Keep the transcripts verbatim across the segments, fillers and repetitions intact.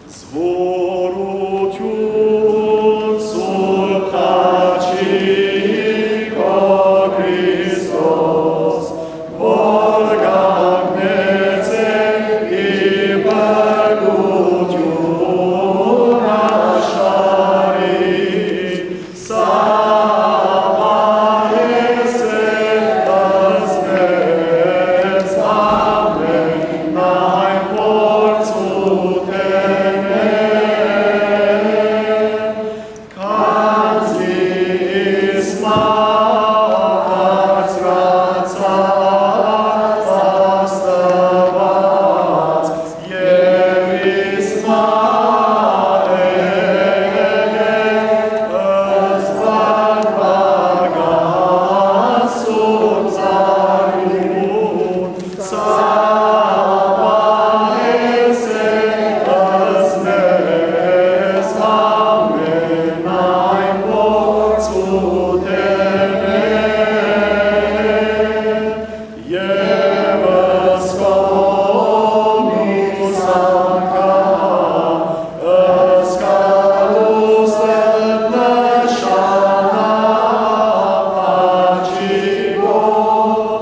Զօրութիւն Սուրբ Խաչի քո Քրիստոս, որ կանգնեցէ ի բնակութիւն աշխարհի, սպասեցէ մեզ ամենայն փորձութենէ, քանզի իսկ մահ բարձրացաւ Աստուած, եւ իսկ մահ զբաղուած Սուրբ Ծառուն, սպասեցէ մեզ ամենայն փորձութենէ, եւ ըսկոմիս անգամ ըսկալուս նշանաւ Խաչի գոյ,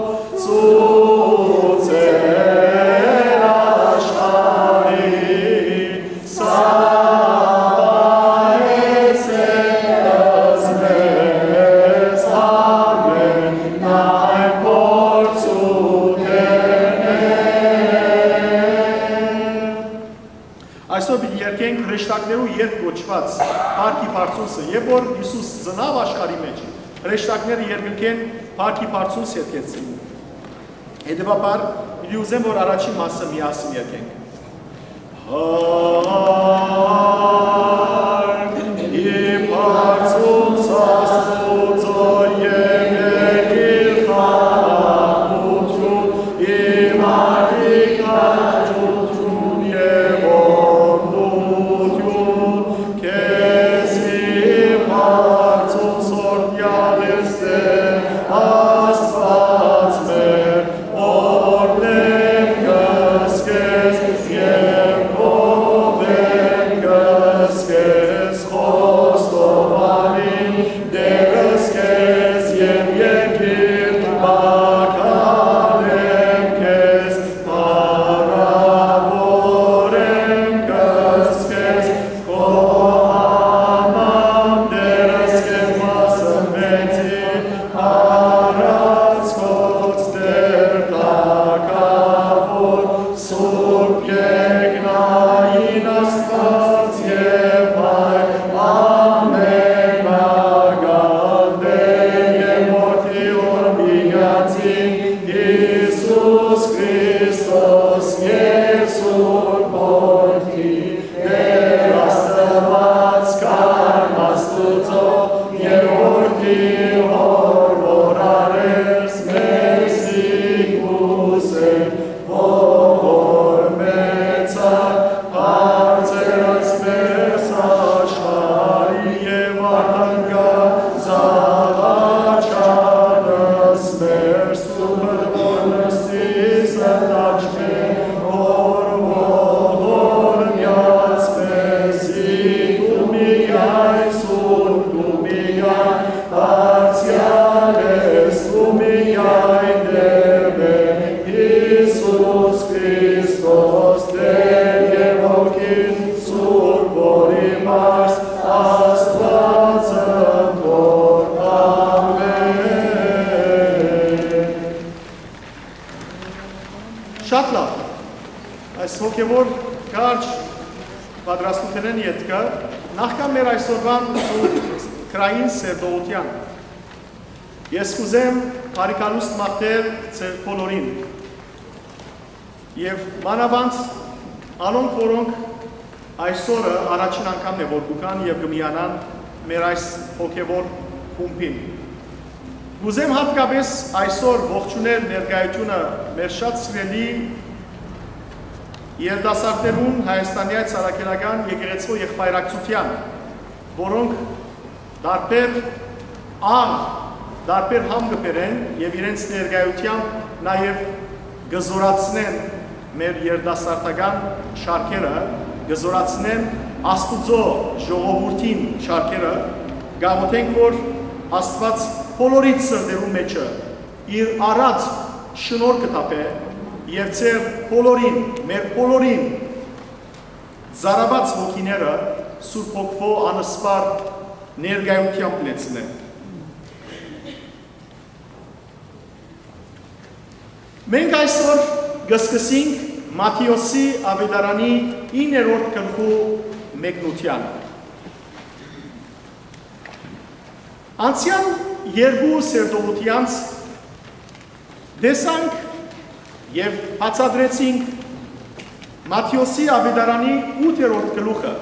ցուցեր աշխարհի, սպասեցէ մեզ ամենայն փորձութենէ։ Այսօր պիտի երգենք հրեշտակներու երգ կոչուած Փառքի Բարձունսը, եւ որ Յիսուս ծնաւ աշխարհի մէջ, հրեշտակները երգնքեն Փառքի Բարձունս երգեցին։ Հետեւաբար, պիտի ուզեմ, որ առաջին մասը միասին երգենք։ Փառքի Բարձունս Աստուծոյ, եւ երկիր խաղաղութիւն, ի մարդիկ քաջութիւն եւ օրհնութիւն, քեզի Բարձունս օրհնեալ ես Տէր Աստուած մեր, օրհնենք քեզ եւ քո վէն քեզ, խոստովանին Տէրս քեզ, եւ երկիր մաքարենք քեզ, փառաւորենք քեզ, քո համար Տէրս քեզ վասն մեծի, առանց կոչ Տէր թագաւոր, Սուրբ Երկնային Աստուած եւ Հայր ամենական Տէր եւ Որդի Օրհնեալին Յիսուս Քրիստոս եւ Սուրբ Որդի Տէր Աստուած, Քարմ Աստուծոյ եւ Որդի հօր, որ առեալ մեզի կուսեր, որ մեծար բարձրացուց մեր աշխարհի եւ արտընկա զաղաչանս մեր սուրբը, որ նստի սնտաճ մէ, որ ողորմեաց մեզի դու միայն սուրբ, դու միայն դարձեալ ես, դու միայն Տէր մէ, Յիսուս Քրիստոս, Տէր եւ Հոգին Սուրբ, որ իմաց Աստուածը Տոր։ Ամէն։ Շատ լավ։ Այս հոգեվոր կարճ պատրաստութենէն ետքը, նախքան մեր այսօրվան սուրբ քրային սերտողութեան, ես կուզեմ բարիքալուստ մաղթել ձեր բոլորին եւ մանաւանդ անոնք, որոնք այսօրը առաջին անգամն է, որ կու գան եւ կը միանան մեր այս հոգեվոր խումբին։ Կուզեմ յատկապէս այսօր ողջունել ներկայությունը մեր շատ սիրելի երիտասարդներուն Հայաստանի Սարաքելական եկեղեցու եղբայրակցութեան, որոնք տարբեր աղ, տարբեր համ կը բերեն եւ իրենց ներկայութեամբ նաեւ կը զորացնեն մեր երիտասարդական շարքերը, Կը զօրացնեմ Աստուծոյ ժողովուրդին շարքերը, կ'աղօթենք, որ Աստուած բոլորի սրտերուն մէջը իր առատ շնորհքը թափէ եւ ձեր բոլորին, մեր բոլորին ծարաւած հոգիները Սուրբ Հոգւոյ անսպառ ներկայութեամբ լեցնէ։ Մենք այսօր կը սկսենք Մատթէոսի աւետարանի իններորդ գլխու մեկնութեան։ Անցեալ երկու սերտողութեանց տեսանք եւ բացատրեցինք Մատթէոսի աւետարանի ութերորդ գլուխը։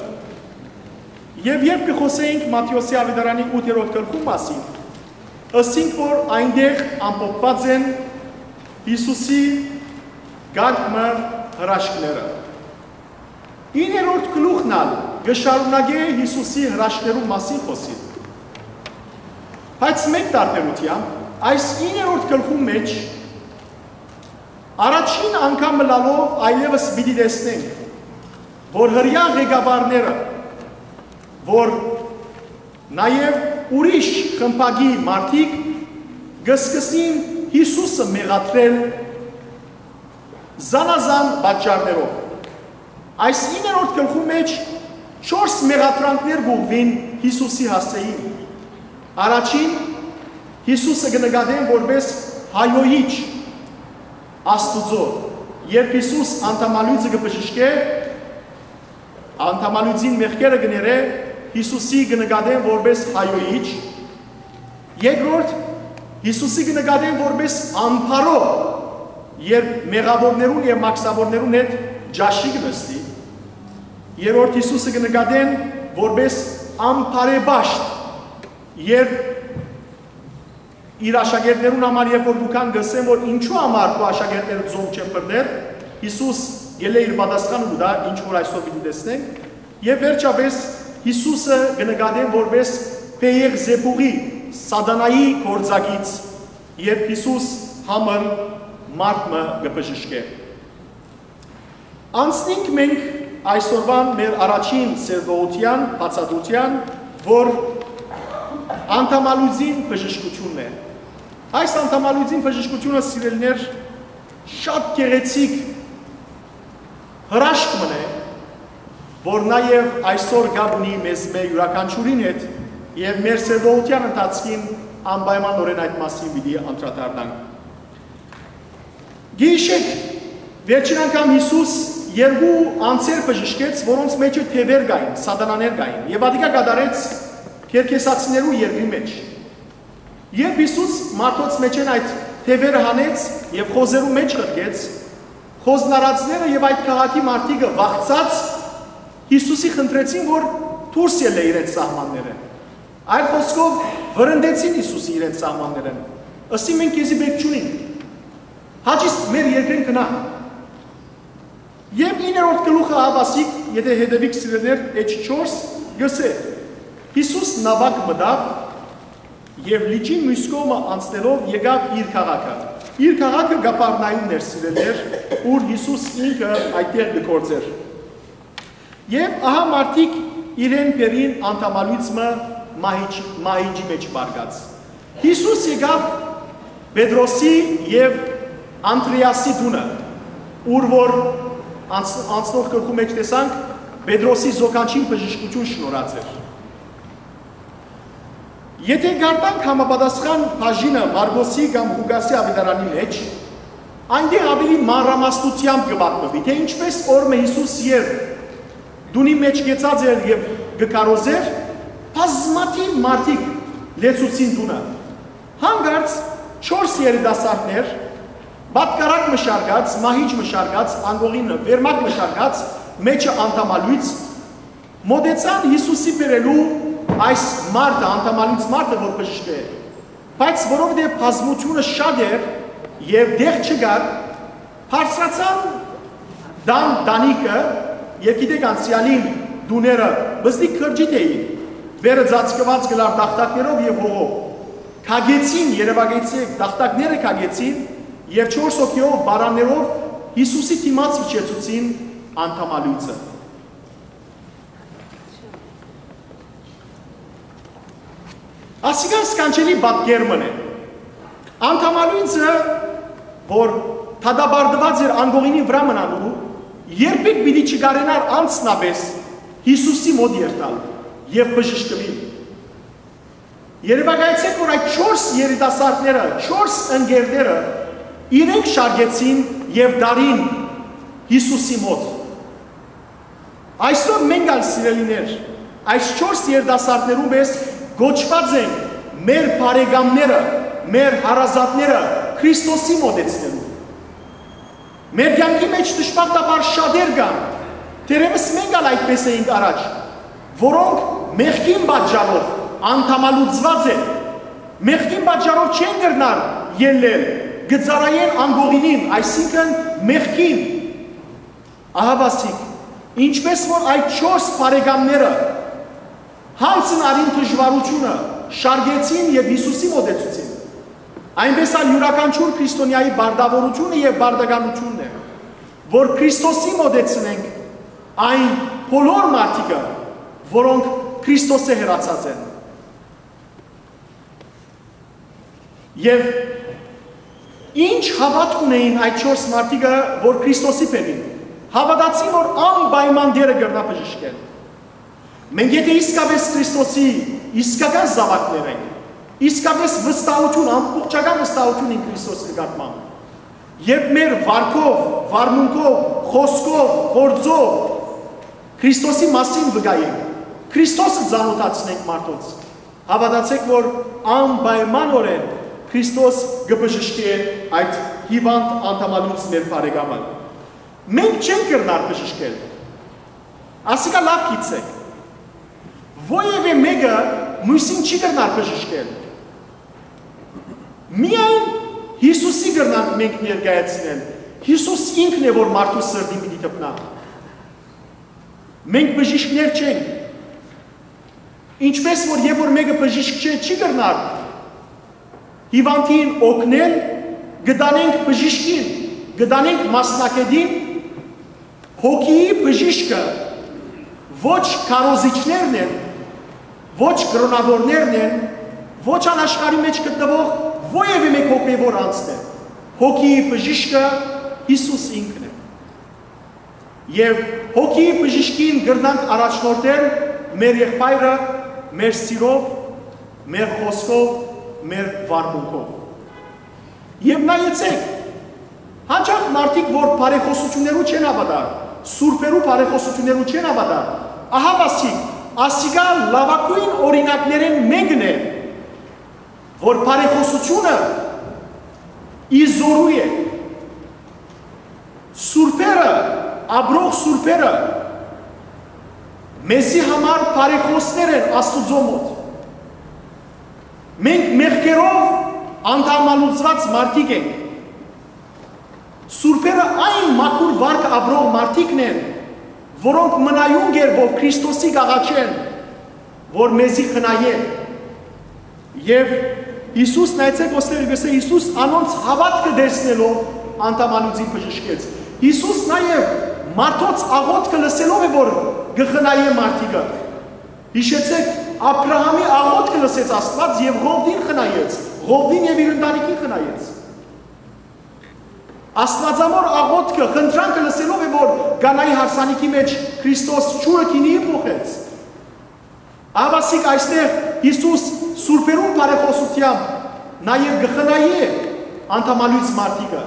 Եւ երբ կը խօսենք Մատթէոսի աւետարանի ութերորդ գլխու մասին, ըսինք, որ այնտեղ ամփոփուած են Յիսուսի կարգ մը հրաշքները։ Իններորդ գլուխն ալ կը շարունակէ Յիսուսի հրաշքներու մասին խօսիլ։ Բայց մէկ տարբերութեամբ, այս իններորդ գլխու մէջ առաջին անգամ ըլալով այլեւս պիտի տեսնենք, որ հրեայ ղեկավարները, որ նաեւ ուրիշ խմբակի մարդիկ կը սկսին Յիսուսը մեղադրել զանազան պատճառներով։ Այս իններորդ գլխու մէջ չորս մեղադրանքներ կ'ուղղուին Յիսուսի հասցէին։ Առաջին, Յիսուսը կը նկատեն որպէս հայոյիչ Աստուծոյ։ Երբ Յիսուս անդամալոյծը կը բժշկէ, անդամալոյծին մեղքերը կը ներէ, Յիսուսի կը նկատեն որպէս հայոյիչ։ Երկրորդ, Յիսուսի կը նկատեն որպէս անբարոյ, երբ մեղաւորներուն եւ մաքսաւորներուն հետ ճաշի կը նստի։ Երրորդ, Յիսուսը կը նկատեն որպէս անբարեպաշտ, երբ իր աշակերտներուն համար, երբ որ կու գան, կ'ըսեն, որ ինչու համար քու աշակերտները ծոմ չեն բռներ, Յիսուս գելէ իր պատասխանը կու տայ, ինչ որ այսօր պիտի տեսնենք, եւ վերջապէս Յիսուսը կը նկատեն որպէս Պէեղզեբուղի, սատանայի գործակից, երբ Յիսուս համր մարդ մը կը բժշկէ։ Անցնենք մենք այսօրվան մեր առաջին սերտողութեան, բացատրութեան, որ անդամալուծին բժշկութիւնն է։ Այս անդամալուծին բժշկութիւնը, սիրելիներ, շատ գեղեցիկ հրաշք մըն է, որ նաեւ այսօր կապ ունի մեզմէ յուրաքանչիւրին հետ եւ մեր սերտողութեան ընթացքին անպայմանօրէն այդ մասին պիտի անդրադառնանք։ Գիշեր, վերջին անգամ Յիսուս երկու անձեր բժշկեց, որոնց մէջը թեւեր կային, սատանաներ կային, եւ ատիկա կատարեց Կերքեսացիներու երկրի մէջ։ Երբ Յիսուս մարդոց մէջէն այդ թեւերը հանեց եւ խոզերու մէջ ղրկեց, խոզնարածները եւ այդ քաղաքի մարդիկը վախցած Յիսուսի խնդրեցին, որ դուրս ելլէ իրենց սահմանները։ Այլ խօսքով, վրընդեցին Յիսուսի իրենց սահմաններէն։ Ըսին, մենք քեզի պէտք չունինք։ Հաճիս մեր երկրին գնա։ Եւ իններորդ գլուխը աբասիկ, եթե հետեւիք, սիրելիներ, էջ չորս, գսէ. Յիսուս նաւակ մտաւ եւ լիճին միւս կողմը անցնելով եկաւ իր քաղաքը։ Իր քաղաքը Կափառնայումն էր, սիրելիներ, ուր Յիսուս ինքը այդտեղ կը գործէր։ Եւ ահա մարդիկ իրեն բերին անդամալոյծ մը մահիճ-, մահիճի մէջ պառկած։ Յիսուս եկաւ Պետրոսի եւ Անդրեասի տունը, ուր որ անց-, անցնող գլխու մէջ տեսանք, Պետրոսի զոքանչին բժշկութիւն շնորհած էր։ Եթե գարտանք համապատասխան բաժինը Մարկոսի կամ Ղուկասի աւետարանի մէջ, այնտեղ աւելի մանրամասնութեամբ կը պատմուի, թէ ինչպէս օրը մը Յիսուս երբ տունի մէջ կեցած էր եւ կը քարոզէր, բազմաթիւ մարդիկ լեցուցին տունը։ Հանկարծ չորս երիտասարդներ, պատկառակ մը շարգած, մահիճ մը շարգած, անկողինը վերմակ մը շարգած, մէջը անդամալոյծ, մօտեցան Յիսուսի բերելու այս մարդը, անդամալից մարդը, որ բժշկէ, բայց որովհետեւ բազմութիւնը շատ էր եւ տեղ չկար, բարձրացան տան տանիքը, եւ գիտեք, անցեալին տուները բզդիկ քրջի թէին, վերը ծածկուած կլար տախտակներով եւ հողով։ Քագեցին, երեւակայեցի, տախտակները քագեցին եւ չորս հոգիով, պարաններով Յիսուսի դիմաց իջեցուցին անդամալույցը։ Ասիկա սքանչելի պատկեր մըն է։ Անդամալոյնցը, որ դատապարտուած էր անկողինին վրայ մնալու, երբեք պիտի չկարենար անձնապէս Յիսուսի մօտ երթալ եւ բժշկուիլ։ Երեւակայեցէք, որ այդ չորս երիտասարդները, չորս ընկերները իրենք շարքեցին եւ դարին Յիսուսի մօտ։ Այսօր մենք ալ, սիրելիներ, այս չորս երիտասարդներուն պէս կոչուած ենք մեր բարեկամները, մեր հարազատները Քրիստոսի մօտեցնելու։ Մեր կեանքի մէջ դժբախտաբար շատեր կան, թերեւս մենք ալ այդպէս էինք առաջ, որոնք մեղքին պատճառով անդամալուծուած են, մեղքին պատճառով չեն կրնար ելլել, կը ծառայեն անկողինին, այսինքն՝ մեղքին։ Ահա, ասիկ, ինչպէս որ այդ չորս բարեկամները յանձն առին դժուարութիւնը, շարքեցին եւ Յիսուսի մօտեցուցին, այնպէս ալ իւրաքանչիւր քրիստոնեայի պարտաւորութիւնը եւ պարտականութիւնն է, որ Քրիստոսի մօտեցնենք այն բոլոր մարդիկը, որոնք Քրիստոսէ հեռացած են։ Եւ ինչ հաւատք ունէին այդ չորս մարդիկը, որ Քրիստոսի բեմին հաւատացին, որ անպայման Տէրը կրնայ բժշկել։ Մենք եթէ իսկապէս Քրիստոսի իսկական զաւակներ ենք, իսկապէս վստահութիւն, ամբողջական վստահութիւն ենք Քրիստոսի նկատմամբ, երբ մեր վարքով, վարմունքով, խօսքով, գործով Քրիստոսի մասին վկայենք, Քրիստոսը ծանօթացնենք մարդոց, հաւատացէք, որ անպայմանօրէն Քրիստոս կը բժշկէ այդ հիւանդ անդամալուց մեր բարեկամը։ Մենք չենք կրնար բժշկել։ Ասիկա լաւ գիտցէք։ Ոեւէ մէկը միւսին չի կրնար բժշկել։ Միայն Յիսուսի կրնանք մենք ներկայացնել։ Յիսուս ինքն է, որ մարդու սրտին պիտի դպնայ։ Մենք բժիշկներ չենք։ Ինչպէս որ երբ որ մէկը բժիշկ չէ, չի կրնար հիւանդին օգնել, կը տանենք բժիշկին, կը տանենք մասնագետին, հոգիի բժիշկը ոչ քարոզիչներն են, ոչ կրօնաւորներն են, ոչ անաշխարհի մէջ գտնուող որեւէ մէկ հոգեւոր անձն է։ Հոգիի բժիշկը Յիսուս ինքն է։ Եւ հոգիի բժիշկին կրնանք առաջնորդել մեր եղբայրը, մեր սիրով, մեր խօսքով, մեր վարմունքով։ Եւ նայեցեք, հաճախ մարդիկ, որ բարեխօսութիւններու չեն հաւատար, սուրբերու բարեխօսութիւններու չեն հաւատար, ահա, ասիկ, ասիկա լաւագոյն օրինակներէն մէկն է, որ բարեխօսութիւնը ի զօրու է։ Սուրբերը, ապրող սուրբերը մեզի համար բարեխօսներ են Աստուծոյ մօտ։ Մենք մեղքերով անդամալուծուած մարդիկ ենք։ Սուրբերը այն մաքուր վարքը ապրող մարդիկն են, որոնք մնայուն կերպով Քրիստոսի կ'աղաչեն, որ մեզի խնայէ։ Եւ Յիսուս, նայեցեք, ոստեղ կ'ըսէ, Յիսուս անոնց հաւատքը տեսնելով անդամալուծին բժշկեց։ Յիսուս նաեւ մարդոց աղօթքը լսելով է, որ կը խնայէ մարդիկը։ Յիշեցեք, Աբրահամի աղօթքը լսեց Աստուած եւ Ղովտին խնայեց, Ղովտին եւ իր ընտանիքին խնայեց։ Աստուածամոր աղօթքը, խնդրանքը լսելով է, որ Կանայի հարսանիքի մէջ Քրիստոս ջուրը գինիի փոխեց։ Ահա, ասիկ, այստեղ Յիսուս սուրբերուն բարեխօսութեամբ նաեւ կը խնայէ անդամալոյց մարդիկը։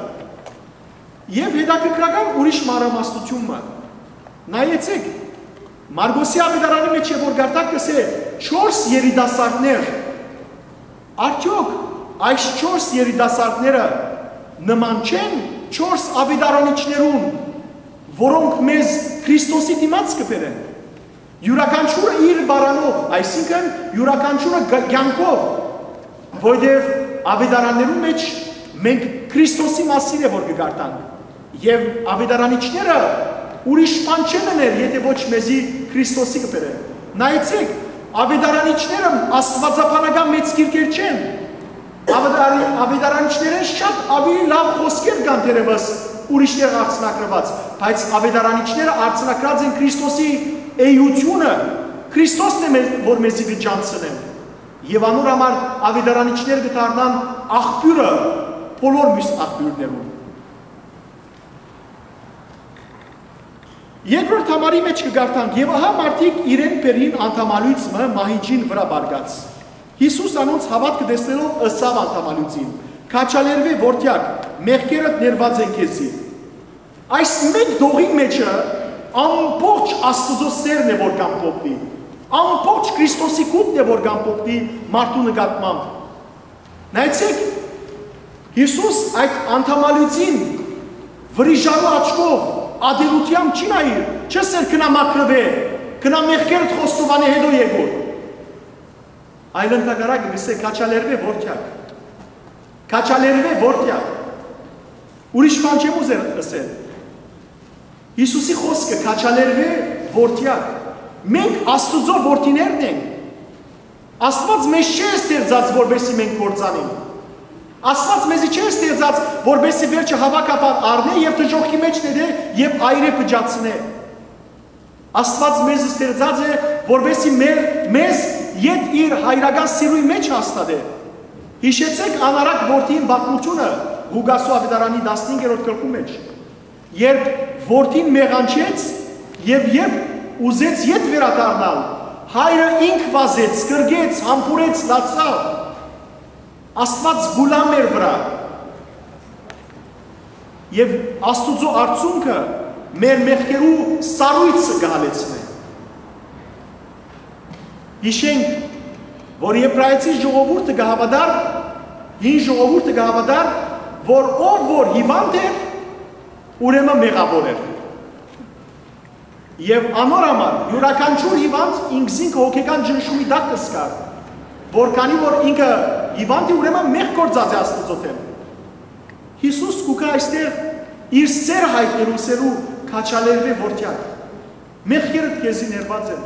Եւ հետաքրքրական ուրիշ մանրամասնութիւն մը։ Նայեցեք, Մարկոսի աւետարանի մէջ է, որ գարտակ կ'ըսէ, չորս երիտասարդներ։ Արդեօք այս չորս երիտասարդները նման չեն չորս աւետարանիչներուն, որոնք մեզ Քրիստոսի դիմաց կը բերեն։ Իւրաքանչիւրը իր բարանով, այսինքն՝ իւրաքանչիւրը գ-, կեանքով, որովհետեւ աւետարաններուն մէջ մենք Քրիստոսի մասին է, որ կը կարդանք, եւ աւետարանիչները ուրիշ բան չեն ըներ, եթէ ոչ մեզի Քրիստոսի կը բերեն։ Նայեցեք, աւետարանիչները աստուածաբանական մեծ գիրքեր չեն, Աւետարանի-, աւետարանիչներէն շատ աւելի լաւ խօսքեր կան թերեւս ուրիշներ արձանագրուած, բայց աւետարանիչները արձանագրած են Քրիստոսի էութիւնը, Քրիստոսն է մե-, որ մեզի կը ճանչցնեն։ Եւ անոր համար աւետարանիչներ կը դառնան աղբիւրը բոլոր միւս աղբիւրներուն։ Երկրորդ համարի մէջ կը կարդանք. «Եւ ահա մարդիկ իրեն բերին անդամալոյծ մը մահիճին վրայ պառկած։ Յիսուս անոնց հաւատքը տեսնելով՝ ըսաւ անդամալոյծին. "Քաջալերուէ, որդեակ, մեղքերդ ներուած են քեզի"»։ Այս մէկ դողին մէջը ամբողջ Աստուծոյ սէրն է, որ կ'ամփոփուի, ամբողջ Քրիստոսի գունդն է, որ կ'ամփոփուի մարդու նկատմամբ։ Նայեցէք, Յիսուս այդ անդամալոյծին վրիժանու աչքով, ատելութեամբ չի նայիր, չ'ըսեր՝ "Գնա մաքրուէ, գնա մեղքերդ խոստովանէ, հետո եկուր"։ Այլ ընդհակառակը կ'ըսէ՝ "Քաջալերուէ, որդեակ, քաջալերուէ, որդեակ"։ Ուրիշ բան չեմ ուզեր ըսել։ Յիսուսի խօսքը՝ "Քաջալերուէ, որդեակ"։ Մենք Աստուծոյ որդիներն ենք։ Աստուած մեզ չէ ստեղծած, որպեսզի մենք կործանենք։ Աստուած մեզի չէ ստեղծած, որպեսզի վերջը հաւաքաբար առնէ եւ դժոխքի մէջ նետէ եւ այրէ փճացնէ։ Աստուած մեզ ստեղծած է, որպեսզի մեր, մեզ ետ իր հայրական սիրոյի մէջ հաստատէ։ Յիշեցէք անառակ որդին պատմութիւնը Ղուկասու աւետարանի տասնհինգերորդ գլխու մէջ, երբ որդին մեղանչեց եւ երբ ուզեց ետ վերադառնալ, հայրը ինք վազեց, կրկեց, համբուրեց, լացաւ։ Աստուած գուլամ էր վրայ։ Եւ Աստուծոյ արդիւնքը մեր մեղքերու սառոյցը կը հալեցնէ։ Յիշենք, որ Եբրայեցի ժողովուրդը կը հաւատար, հին ժողովուրդը կը հաւատար, որ ով որ հիվանդ էր, ուրեմն մեղաւոր էր։ Եւ անոր համար իւրաքանչիւր հիվանդ ինքզինքը հոգեկան ճնշումի տակ կը զգար, որ քանի որ ինքը հիվանդ է, ուրեմն մեղք գործած է Աստուծոյ դէմ։ Յիսուս կու գայ այստեղ իր սէր յայտնելու, սերու քաջալերուէ, որդեակ, մեղքերդ քեզի ներուած են։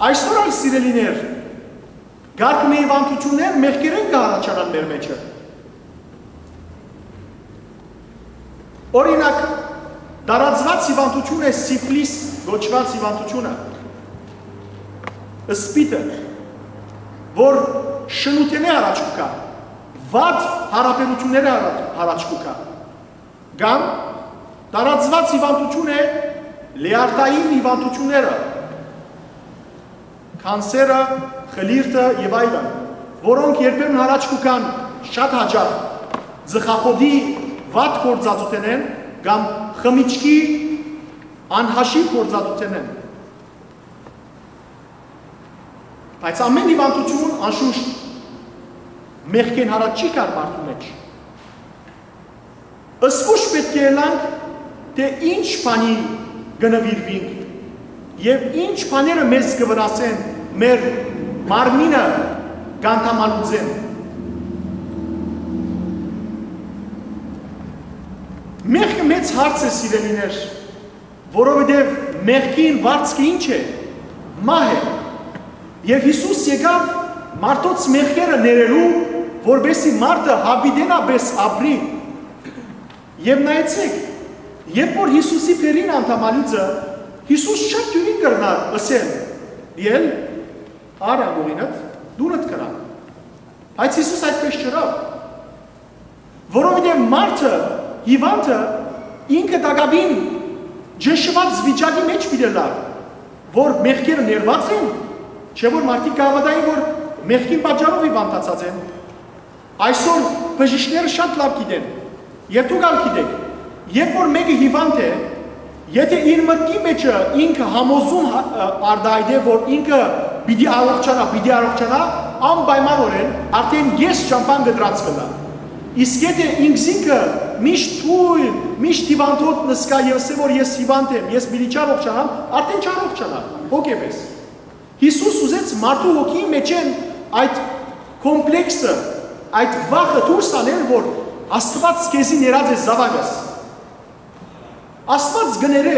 Այսօր ալ, սիրելիներ, կարգ մը հիվանդութիւններ մեղքերէն կը առաջանան մեր մէջը։ Օրինակ, տարածուած հիվանդութիւն է սիֆլիս կոչուած հիվանդութիւնը, սպիտը, որ շնութենէ առաջ կու գայ, վատ յարաբերութիւններէ արա-, առաջ կու գայ, կամ տարածուած հիվանդութիւն է լեարտային հիվանդութիւնները, քանսերը, խլիրտը եւ այլն, որոնք երբեմն առաջ կու գան շատ յաճախ ծխախոտի վատ գործածութենէն կամ խմիչքի անհաշիւ գործածութենէն։ Բայց ամէն հիվանդութիւն, անշուշտ, մեղքէն յառաջ չի գար մարդու մէջ։ Զգոյշ պէտք է ըլլանք, թէ ինչ բանի կը նուիրուինք եւ ինչ բաները մեզ կը վնասեն, մեր մարմինը կ'անդամալուծեն։ Մեղքը մեծ հարց է, սիրելիներ, որովհետեւ մեղքին վարձքը ի՞նչ է։ Մահ է։ Եւ Յիսուս եկաւ մարդոց մեղքերը ներելու, որպեսզի մարդը յաւիտենապէս ապրի։ Եւ նայեցէք, երբ որ Յիսուսի բերին անդամալիցը, Յիսուս շատ դիւրին կրնար ըսել. "Ել, առ անկողինդ, դունդ գնա"։ Բայց Յիսուս այդպես չըրաւ, որովհետեւ մարդը, հիվանդը ինքը տակաւին ճնշուած վիճակի մէջ պիտի ըլլար, որ մեղքերը ներուած են, չէ՞ որ մարդիկ կը հաւատային, որ մեղքին պատճառով հիվանդացած են։ Այսօր բժիշկները շատ լաւ գիտեն, եւ դուք ալ գիտէք, երբ որ մէկը հիվանդ է, եթե իր մտքի մէջը ինքը համոզում հա-, ը, արտայայտէ, որ ինքը պիտի առողջանայ, պիտի առողջանայ, անպայմանօրէն արդէն կես ճամբան կտրած կ'ըլլայ։ Իսկ եթե ինքզինքը միշտ թույլ, միշտ հիվանդոտ նսկայ եւ ըսէ, որ "Ես հիվանդ եմ, ես պիտի չառողջանամ", արդէն չառողջանայ հոգեպես։ Յիսուս ուզեց մարդու հոգիի մէջէն այդ կոմպլեքսը, այդ վախը դուրս հանել, որ Աստուած քեզի ներած է, զաւակս։ Աստուած կը ներէ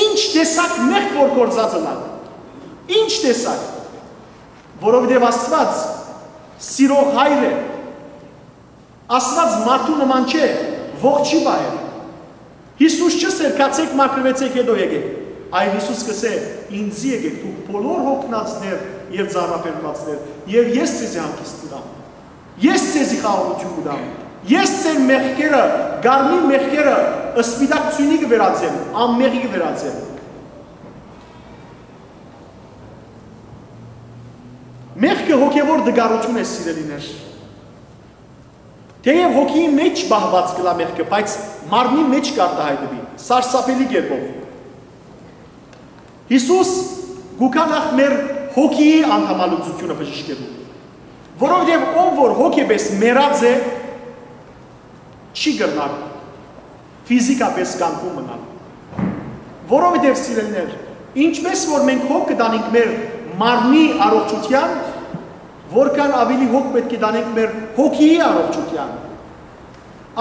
ինչ տեսակ մեղք որ գործած ըլլան։ Ինչ տեսակ, որովհետեւ Աստուած սիրող հայր է։ Աստուած մարդու նման չէ, ողջի պահեր։ Յիսուս չ'ըսէր՝ "Գացէք, մաքրուեցէք, հետո եկէք"։ Այլ Յիսուս կ'ըսէ. «Ինծի եկէք դուք բոլոր յոգնածներ եւ ծանրաբեռնուածներ, եւ ես ձեզի հանգիստ կու տամ։ Ես ձեզի խաղաղութիւն կու տամ։ Ես ձեր մեղքերը, կարմիր մեղքերը, սպիտակ ձիւնի կը վերածեմ, անմեղի կը վերածեմ»։ Մեղքը հոգեւոր տկարութիւն է, սիրելիներ։ Թէեւ հոգիի մէջ պահուած կ'ըլլայ մեղքը, բայց մարմնի մէջ կ'արտայայտուի սարսափելի կերպով։ Յիսուս կու գայ նախ մեր հոգիի անդամալուծութիւնը բժշկելու, որովհետեւ ով որ հոգեպես մեռած է, չի կրնար ֆիզիկապես կանգուն մնալ։ Որովհետեւ, սիրելիներ, ինչպես որ մենք հոգ կը տանենք մեր մարմնի առողջութեան, որքան աւելի հոգ պէտք է տանենք մեր հոգիի առողջութեան։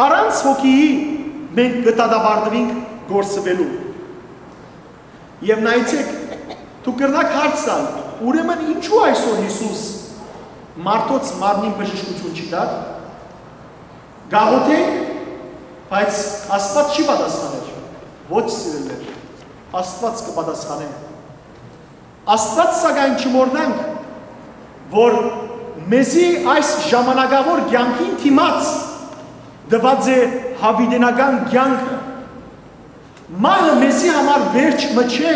Առանց հոգիի մենք կը դատապարտուինք կորսուելու։ Եւ նայեցէք, դուք կրնաք հարց տալ. «Ուրեմն ինչու այսօր Յիսուս մարդոց մարմնին բժշկութիւն չի տար»։ Գաղութենք, բայց Աստուած չի պատասխաներ։ Ոչ, սիրելիներ, Աստուած կը պատասխանէ։ Աստուած, սակայն, չմոռնանք, որ մեզի այս ժամանակաւոր կեանքին դիմաց տուած է յաւիտենական կեանքը։ Մահը մեզի համար վերջ մը չէ։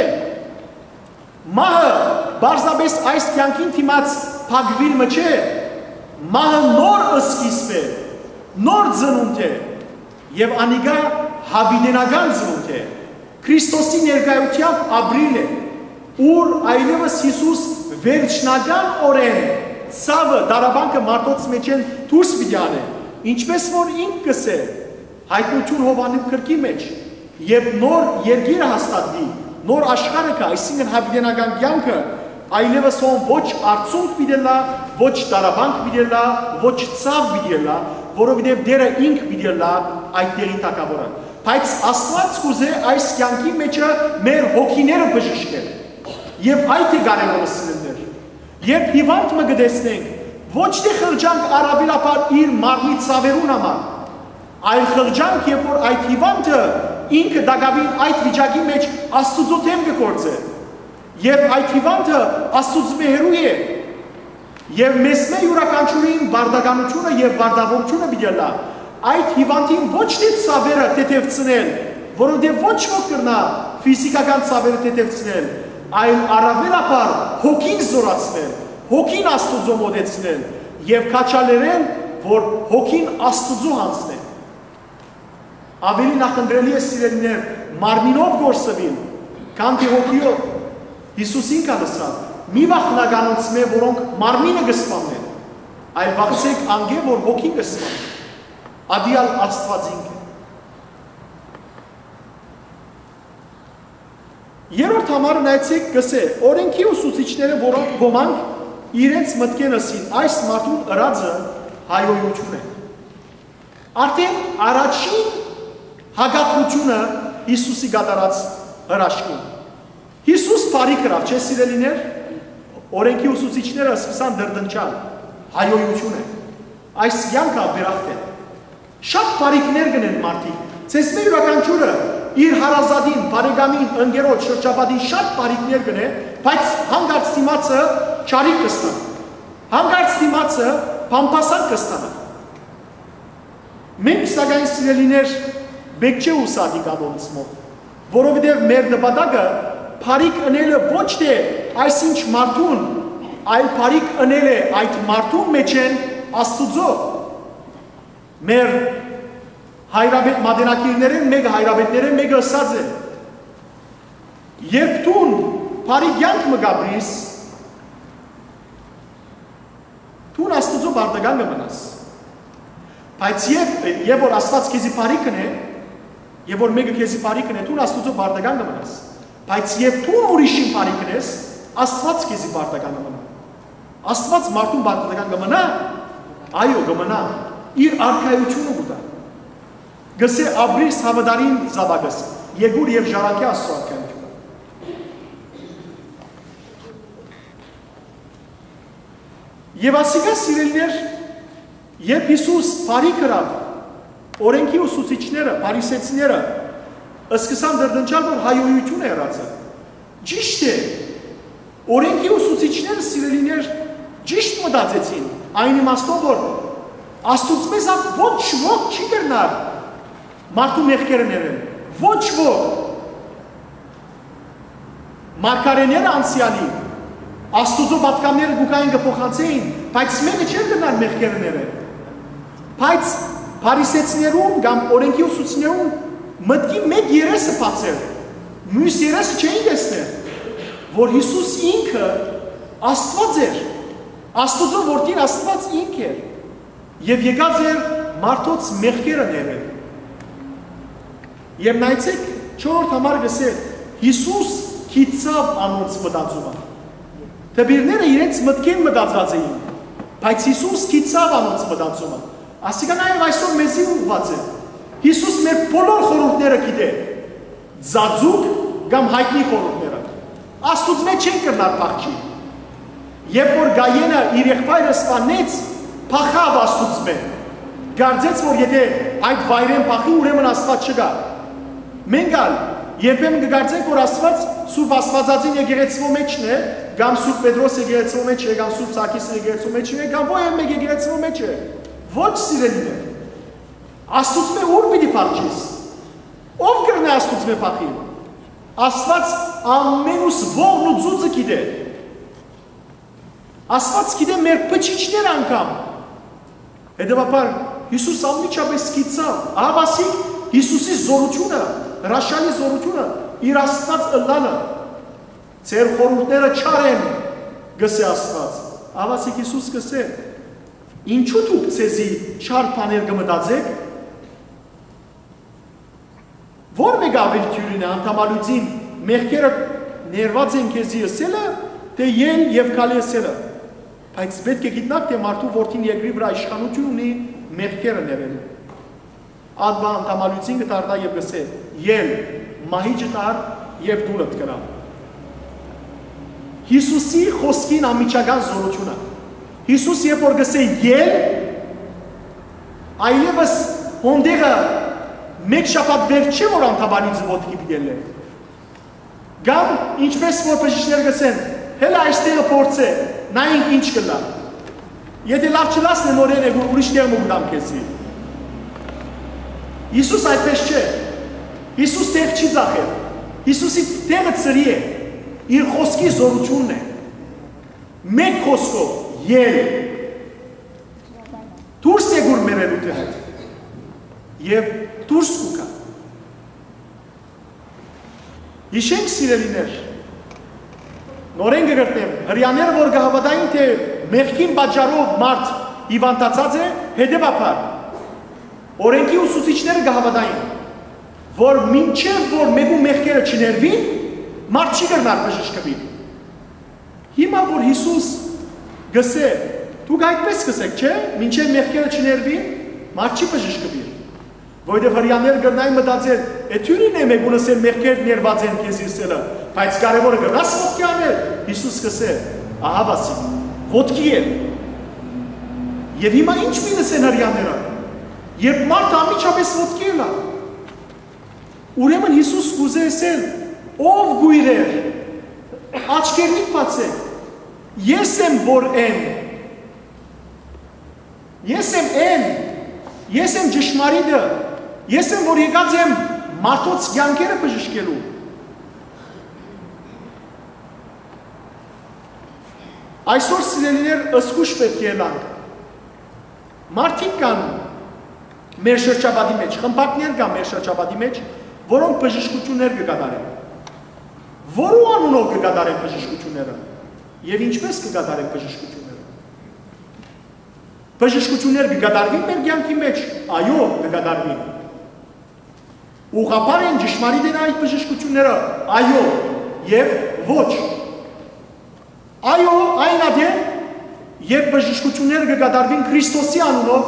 Մահը պարզապէս այս կեանքին դիմաց փակուիլ մը չէ։ Մահը նոր սկիզբ է, նոր ծնունդ է, եւ անիկա յաւիտենական ծնունդ է։ Քրիստոսի ներկայութեամբ ապրիլ է, ուր այլեւս Յիսուս վերջնական օրէն ցաւը, տառապանքը մարդոց մէջէն դուրս պիտի անէ, ինչպես որ ինք կ'ըսէ Յայտնութիւն Յովհաննի գրքի մէջ, երբ նոր երկիրը հաստատուի, նոր աշխարհը կայ, այսինքն՝ յաւիտենական կեանքը, այլեւս հոն ոչ արցունք պիտի ըլլայ, ոչ տառապանք պիտի ըլլայ, ոչ ցաւ պիտի ըլլայ, որովհետեւ Տէրը ինք պիտի ըլլայ այդ տեղի թագաւորը։ Բայց Աստուած կ'ուզէ այս կեանքի մէջը մեր հոգիները բժշկել։ Եւ այդ է կարեւորը, սիրելիներ։ Երբ հիւանդ մը կը տեսնենք, ոչ թէ խղճանք առաւելաբար իր մարմնի ցաւերուն համար, այլ խղճանք, երբ որ այդ հիւանդը ինքը տակաւին այդ վիճակի մէջ Աստուծոյ դէմ կը գործէ, երբ այդ հիւանդը Աստուծմէ հեռու է, եւ մեզմէ իւրաքանչիւրին պարտականութիւնը եւ պարտաւորութիւնը պիտի ըլլայ այդ հիւանդին ոչ թէ ցաւերը թեթեւցնել, որովհետեւ ոչ ոք կրնայ ֆիզիկական ցաւերը թեթեւցնել, այլ առաւելաբար հոգին զօրացնել, հոգին Աստուծոյ մօտեցնել եւ քաջալերել, որ հոգին Աստուծոյ յանձնէ։ Աւելի նախընտրելի է, սիրելիներ, մարմինով կորսուիլ, քան թէ հոգիով։ Յիսուս ինք ալ ըսաւ. «Մի վախնաք անոնցմէ, որոնք մարմինը կը սպաննեն, այլ վախցէք անկէ, որ հոգին կը սպաննի»։ Ատի ալ Աստուած ինք է։ Երրորդ համարը նայեցէք, կ'ըսէ. օրէնքի ուսուցիչները, որոնք ոմանք իրենց մտքեն ըսին, այս մարդուն ըրածը հայոյութիւն է։ Արդեն առաջին հակադրութիւնը Յիսուսի կատարած հրաշքին։ Յիսուս բարի գրաւ, չէ՞, սիրելիներ։ Օրէնքի ուսուցիչները սկսան դրդնչալ. «Հայոյութիւն է, այս կեանքը աբերախտ է»։ Շատ բարիքներ կ'ընեն մարդիկ։ Ձեզմէ իւրաքանչիւրը իր հարազատին, բարեկամին, ընկերոջ, շրջապատին շատ բարիքներ կ'ընէ, բայց հանկարծ դիմացը չարիք կ'ըլլայ, հանկարծ դիմացը բամբասանք կ'ըլլայ։ Մենք, սակայն, սիրելիներ, պէտք չէ ուսակի կատոնցմով, որովհետեւ մեր նպատակը բարիք ընելը ոչ թէ այսինչ մարդուն, այլ բարիք ընելը այդ մարդուն մէջէն Աստուծոյ։ Մեր հայրապետ մատենագիրներէն մէկը, հայրապետներէն մէկը ըսած է. «Երբ դուն բարի կեանք մը կ'ապրիս, դուն Աստուծոյ պարտական կը մնաս։ Բայց երբ, երբ որ Աստուած քեզի բարի կ'ընէ, երբ որ մէկը քեզի բարի կ'ընէ, դուն Աստուծոյ պարտական կը մնաս։ Բայց երբ դուն ուրիշին բարի կ'ընես, Աստուած քեզի պարտական կը մնայ»։ Աստուած մարդուն պարտական կը մնա՞։ Այո, կը մնայ։ Իր արքայութիւնը կու տայ։ Կ'ըսէ. «Ապրիր, Սաւատարին զաւակս, եկուր եւ ժառանգէ Աստուծոյ արքայութիւնը»։ Եւ ասիկա, սիրելիներ, երբ Յիսուս բարի գրաւ, օրէնքի ուսուցիչները, փարիսեցիները, սկսան դրդնչալ, որ հայոյութիւն է ըրածը։ Ճիշդ է, օրէնքի ուսուցիչները, սիրելիներ, ճիշդ մտածեցին, այն իմաստով որ Աստուծմէ զատ ոչ ոք չի կրնար մարդու մեղքերը ներել, ոչ ոք։ Մարգարէները անցեալի Աստուծոյ պատգամները գուկային կը փոխանցէին, բայց մէկը չէր կրնար մեղքերը ներել։ Բայց փարիսեցիներուն կամ օրէնքի ուսուցիչներուն մտքի մէկ երեսը բաց էր, միւս երեսը չէին տեսներ, որ Յիսուս ինքը Աստուած էր, Աստուծոյ որդին Աստուած ինք էր եւ եկած էր մարդոց մեղքերը ներել։ Եւ նայեցէք, չորրորդ համար կ'ըսէ. «Յիսուս գիտցաւ անոնց մտածումը»։ Դպիրները իրենց մտքին մտածած էին, բայց Յիսուս գիտցաւ անոնց մտածումը։ Ասիկա նաեւ այսօր մեզի ուղղուած է։ Յիսուս մեր բոլոր խորհուրդները գիտէ, ծածուկ կամ յայտնի խորհուրդները։ Աստուծմէ չեն կրնար փախչի։ Երբ որ Կայենը իր եղբայրը սպանեց, փախաւ Աստուծմէ։ Կարծեց, որ եթէ այդ վայրէն փախի, ուրեմն Աստուած չկայ։ Մենք ալ երբեմն կկարծենք, որ Աստուած Սուրբ Աստուածածին եկեղեցւոյ մէջն է, կամ Սուրբ Պետրոս եկեղեցւոյ մէջ է, կամ Սուրբ Սարգիս եկեղեցւոյ մէջն է, կամ ո՞յ մէկ եկեղեցւոյ մէջ է։ Ոչ, սիրելիներ, Աստուծմէ ո՞ւր պիտի փախչես։ Ո՞վ կրնայ Աստուծմէ փախիլ։ Աստուած ամենուս ողն ու ծուծը գիտէ։ Աստուած գիտէ մեր բջիջները անգամ։ Հետեւաբար Յիսուս անմիջապէս գիտցաւ, ահաւասիկ Յիսուսի զօրութիւնը, հրաշալի զօրութիւնը, իր Աստուած ըլլալը։ «Ձեր խորհուրդները չար են», կ'ըսէ Աստուած։ Ահաւասիկ Յիսուս կ'ըսէ. «Ինչո՞ւ դուք ձեզի չար բաներ կը մտածէք»։ Ո՞ր մէկը աւելի դիւրին է, անդամալոյծին մեղքերը ներուած են քեզի ըսելը, թէ ել եւ քալի ըսելը։ Բայց պէտք է գիտնաք, թէ մարդու որդին երկրի վրայ իշխանութիւն ունի մեղքերը ներելու։ Ատմա անդամալոյծին կը դառնայ եւ կ'ըսէ. «Ել, մահիճդ առ եւ տունդ գնա»։ Յիսուսի խօսքին անմիջական զօրութիւնը։ Յիսուս երբ որ կ'ըսէ. «Ել», այլեւս հոն տեղը մէկ շաբաթ վեր չէ, որ անդամալոյծը ոտքի պիտի ելլէ։ Կամ, ինչպէս որ բժիշկներ կ'ըսեն, հելա այս տեղը փորձէ, նայենք ինչ կ'ըլլայ։ Եթէ լաւ չըլլաս, նորէն եկուր, ուրիշ տեղ մը կու տամ քեզի։ Յիսուս այդպէս չէ։ Յիսուս տեղ չի ձախեր։ Յիսուսի տեղը ծրի է, իր խօսքի զօրութիւնն է։ Մէկ խօսքով, ել։ Դուրս եկուր մեր ելութենէն եւ դուրս կու գայ։ Յիշենք, սիրելիներ, նորէն կը կրկնեմ, Հրեաները որ կը հաւատային, թէ մեղքին պատճառով մարդ հիւանդացած է, հետեւաբար օրէնքի ուսուցիչները կը հաւատային, որ մինչեւ որ մէկու մեղքերը չներուին, մարդ չի կրնար բժշկուիլ։ Հիմա որ Յիսուս կ'ըսէ. «Դուք այդպէս կ'ըսէք, չէ՞, մինչեւ մեղքերը չներուին, մարդ չի բժշկուիլ»։ Որովհետեւ Հրեաները կրնային մտածել. «Է դիւրին է մէկուն ըսել, մեղքեր ներուած են քեզի» ըսելը, բայց կարեւորը կրնաս ոտքի անել։ Յիսուս կ'ըսէ. «Ահաւասիկ, ոտքի ել»։ Եւ հիմա ի՞նչ պիտի ըսեն Հրեաները, երբ մարդը անմիջապէս ոտքի ելայ։ Ուրեմն Յիսուս կ'ուզէ ըսել. «Ով կոյրեր, աչքերնիդ բացէք, ես եմ որ եմ, ես եմ էն, ես եմ ճշմարիտը, ես եմ որ եկած եմ մարդոց կեանքերը բժշկելու»։ Այսօր, սիրելիներ, զգոյշ պէտք է ըլլանք։ Մարդիկ կան մեր շրջապատի մէջ, խմբակներ կան մեր շրջապատի մէջ, որոնք բժշկութիւններ կը կատարեն։ Որու անունով կը կատարեն բժշկութիւնները եւ ինչպէս կը կատարեն բժշկութիւնները։ Բժշկութիւններ կը կատարվի՞ն մեր կեանքի մէջ։ Այո, կը կատարվին։ Ուղղափառ են, ճշմարիտ են այդ բժշկութիւնները։ Այո, եւ ոչ։ Այո, այն ատեն, երբ բժշկութիւնները կը կատարվին Քրիստոսի անունով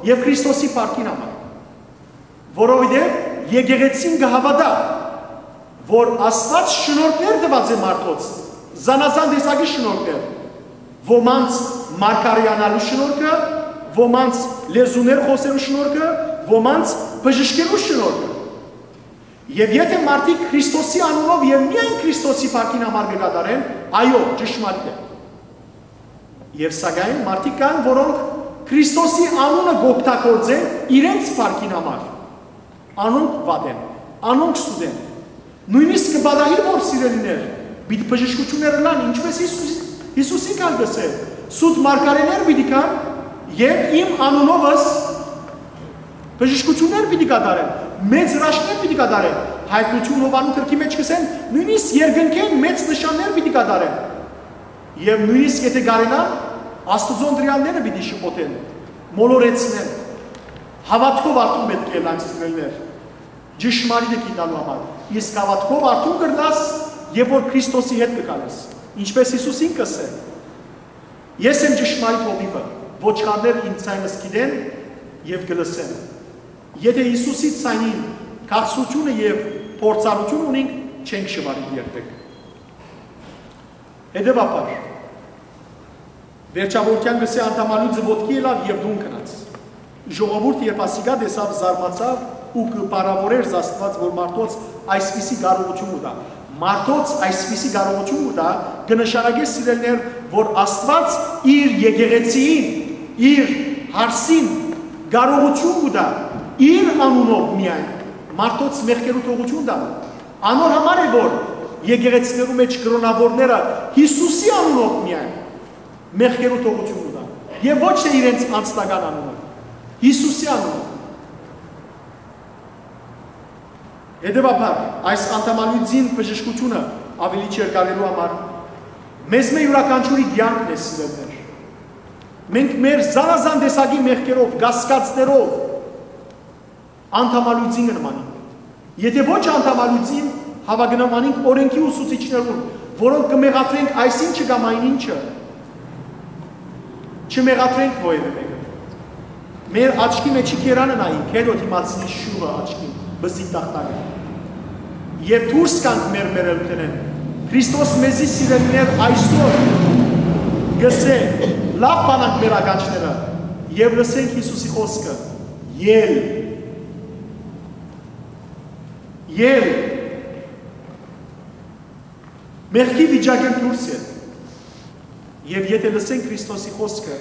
եւ Քրիստոսի փառքին համար, որովհետեւ եկեղեցին կը հաւատայ, որ Աստուած շնորհքներ տուած է մարդոց, զանազան տեսակի շնորհքներ, ոմանց մարգարեանալու շնորհքը, ոմանց լեզուներ խօսելու շնորհքը, ոմանց բժշկելու շնորհքը։ Եւ եթէ մարդիկ Քրիստոսի անունով եւ միայն Քրիստոսի փառքին համար կը կատարեն, այո, ճշմարիտ է։ Եւ սակայն մարդիկ կան, որոնք Քրիստոսի անունը կօգտագործեն իրենց փառքին համար, անոնք վատ են, անոնք սուտ են։ Նոյնիսկ կը պատահի, որ, սիրելիներ, պիտի բժշկութիւններ ըլլան, ինչպէս Յիսուս, Յիսուսին կալ կ'ըսէ. «Սուտ մարգարէներ պիտի գան եւ իմ անունովս բժշկութիւններ պիտի կատարեն, մեծ հրաշքներ պիտի կատարեն»։ Հայտնութիւն Յովհաննու գրքի մէջ կ'ըսեն, նոյնիսկ երկնքէն մեծ նշաններ պիտի կատարեն։ Եւ նոյնիսկ եթէ կարենան, Աստուծոյ ընտրեալները պիտի շփոթեն, մոլորեցնեն։ Հաւատքով արթուն պէտք է ըլլանք, սիրելիներ, ճշմարիտը գիտնալու համար։ Իսկ հաւատքով արթուն կ'ըլլաս, երբ որ Քրիստոսի հետ կը գալես, ինչպէս Յիսուս ինքը ըսէ. «Ես եմ ճշմարիտ հովիւը, ոչխարները ինծանից գիտեն եւ կը լսեն»։ Եթէ Յիսուսի ձայնին քաղցրութիւնը եւ փորձառութիւնը ունինք, չենք շուարիլ երբեք։ Հետեւաբար, վերջավորութեան կ'ըսէ. «Անդամալոյծը ոտքի ելաւ եւ տուն գնաց»։ Ժողովուրդը, երբ ասիկա տեսաւ, զարմացաւ ու կը փառաւորէր Աստուած, որ մարդոց այսպիսի կարողութիւն կու տայ։ Մարդոց այսպիսի կարողութիւն կու տայ, կը նշանակէ, սիրելիներ, որ Աստուած իր եկեղեցիին, իր հարսին կարողութիւն կու տայ, իր անունով միայն, մարդոց մեղքերու թողութիւն տայ։ Անոր համար է, որ եկեղեցիներու մէջ կրօնաւորները Յիսուսի անունով միայն մեղքերու թողութիւն կու տան, եւ ոչ թէ իրենց անձնական անունով, Յիսուսի անունով։ Հետեւաբար, այս անդամալուծին բժշկութիւնը աւելի չերկարելու համար մեզմէ յուրաքանչիւրի կեանքն է, սիրելիներ։ Մենք մեր զանազան տեսակի մեղքերով, կասկածներով, անդամալուծին կը նմանինք։ Եթէ ոչ անդամալուծին, հաւա կը նմանինք օրէնքի ուսուցիչներուն, որոնք կը մեղադրենք այսինչը կամ այն ինչը։ Չմեղադրենք որեւէ մեկը։ Մեր աչքի մէջի կերանը նայինք, հետո դիմացի շուղը, աչքին, բզիկ տախտակը։ Եւ դուրս գանք մեր մեռելութենէն։ Քրիստոս մեզի, սիրելիներ, այսօր կ'ըսէ. լաւ բանանք մեր ականջները եւ լսենք Յիսուսի խօսքը. «Ել, ել, մեղքի վիճակէն դուրս ել»։ Եւ եթէ լսենք Քրիստոսի խօսքը,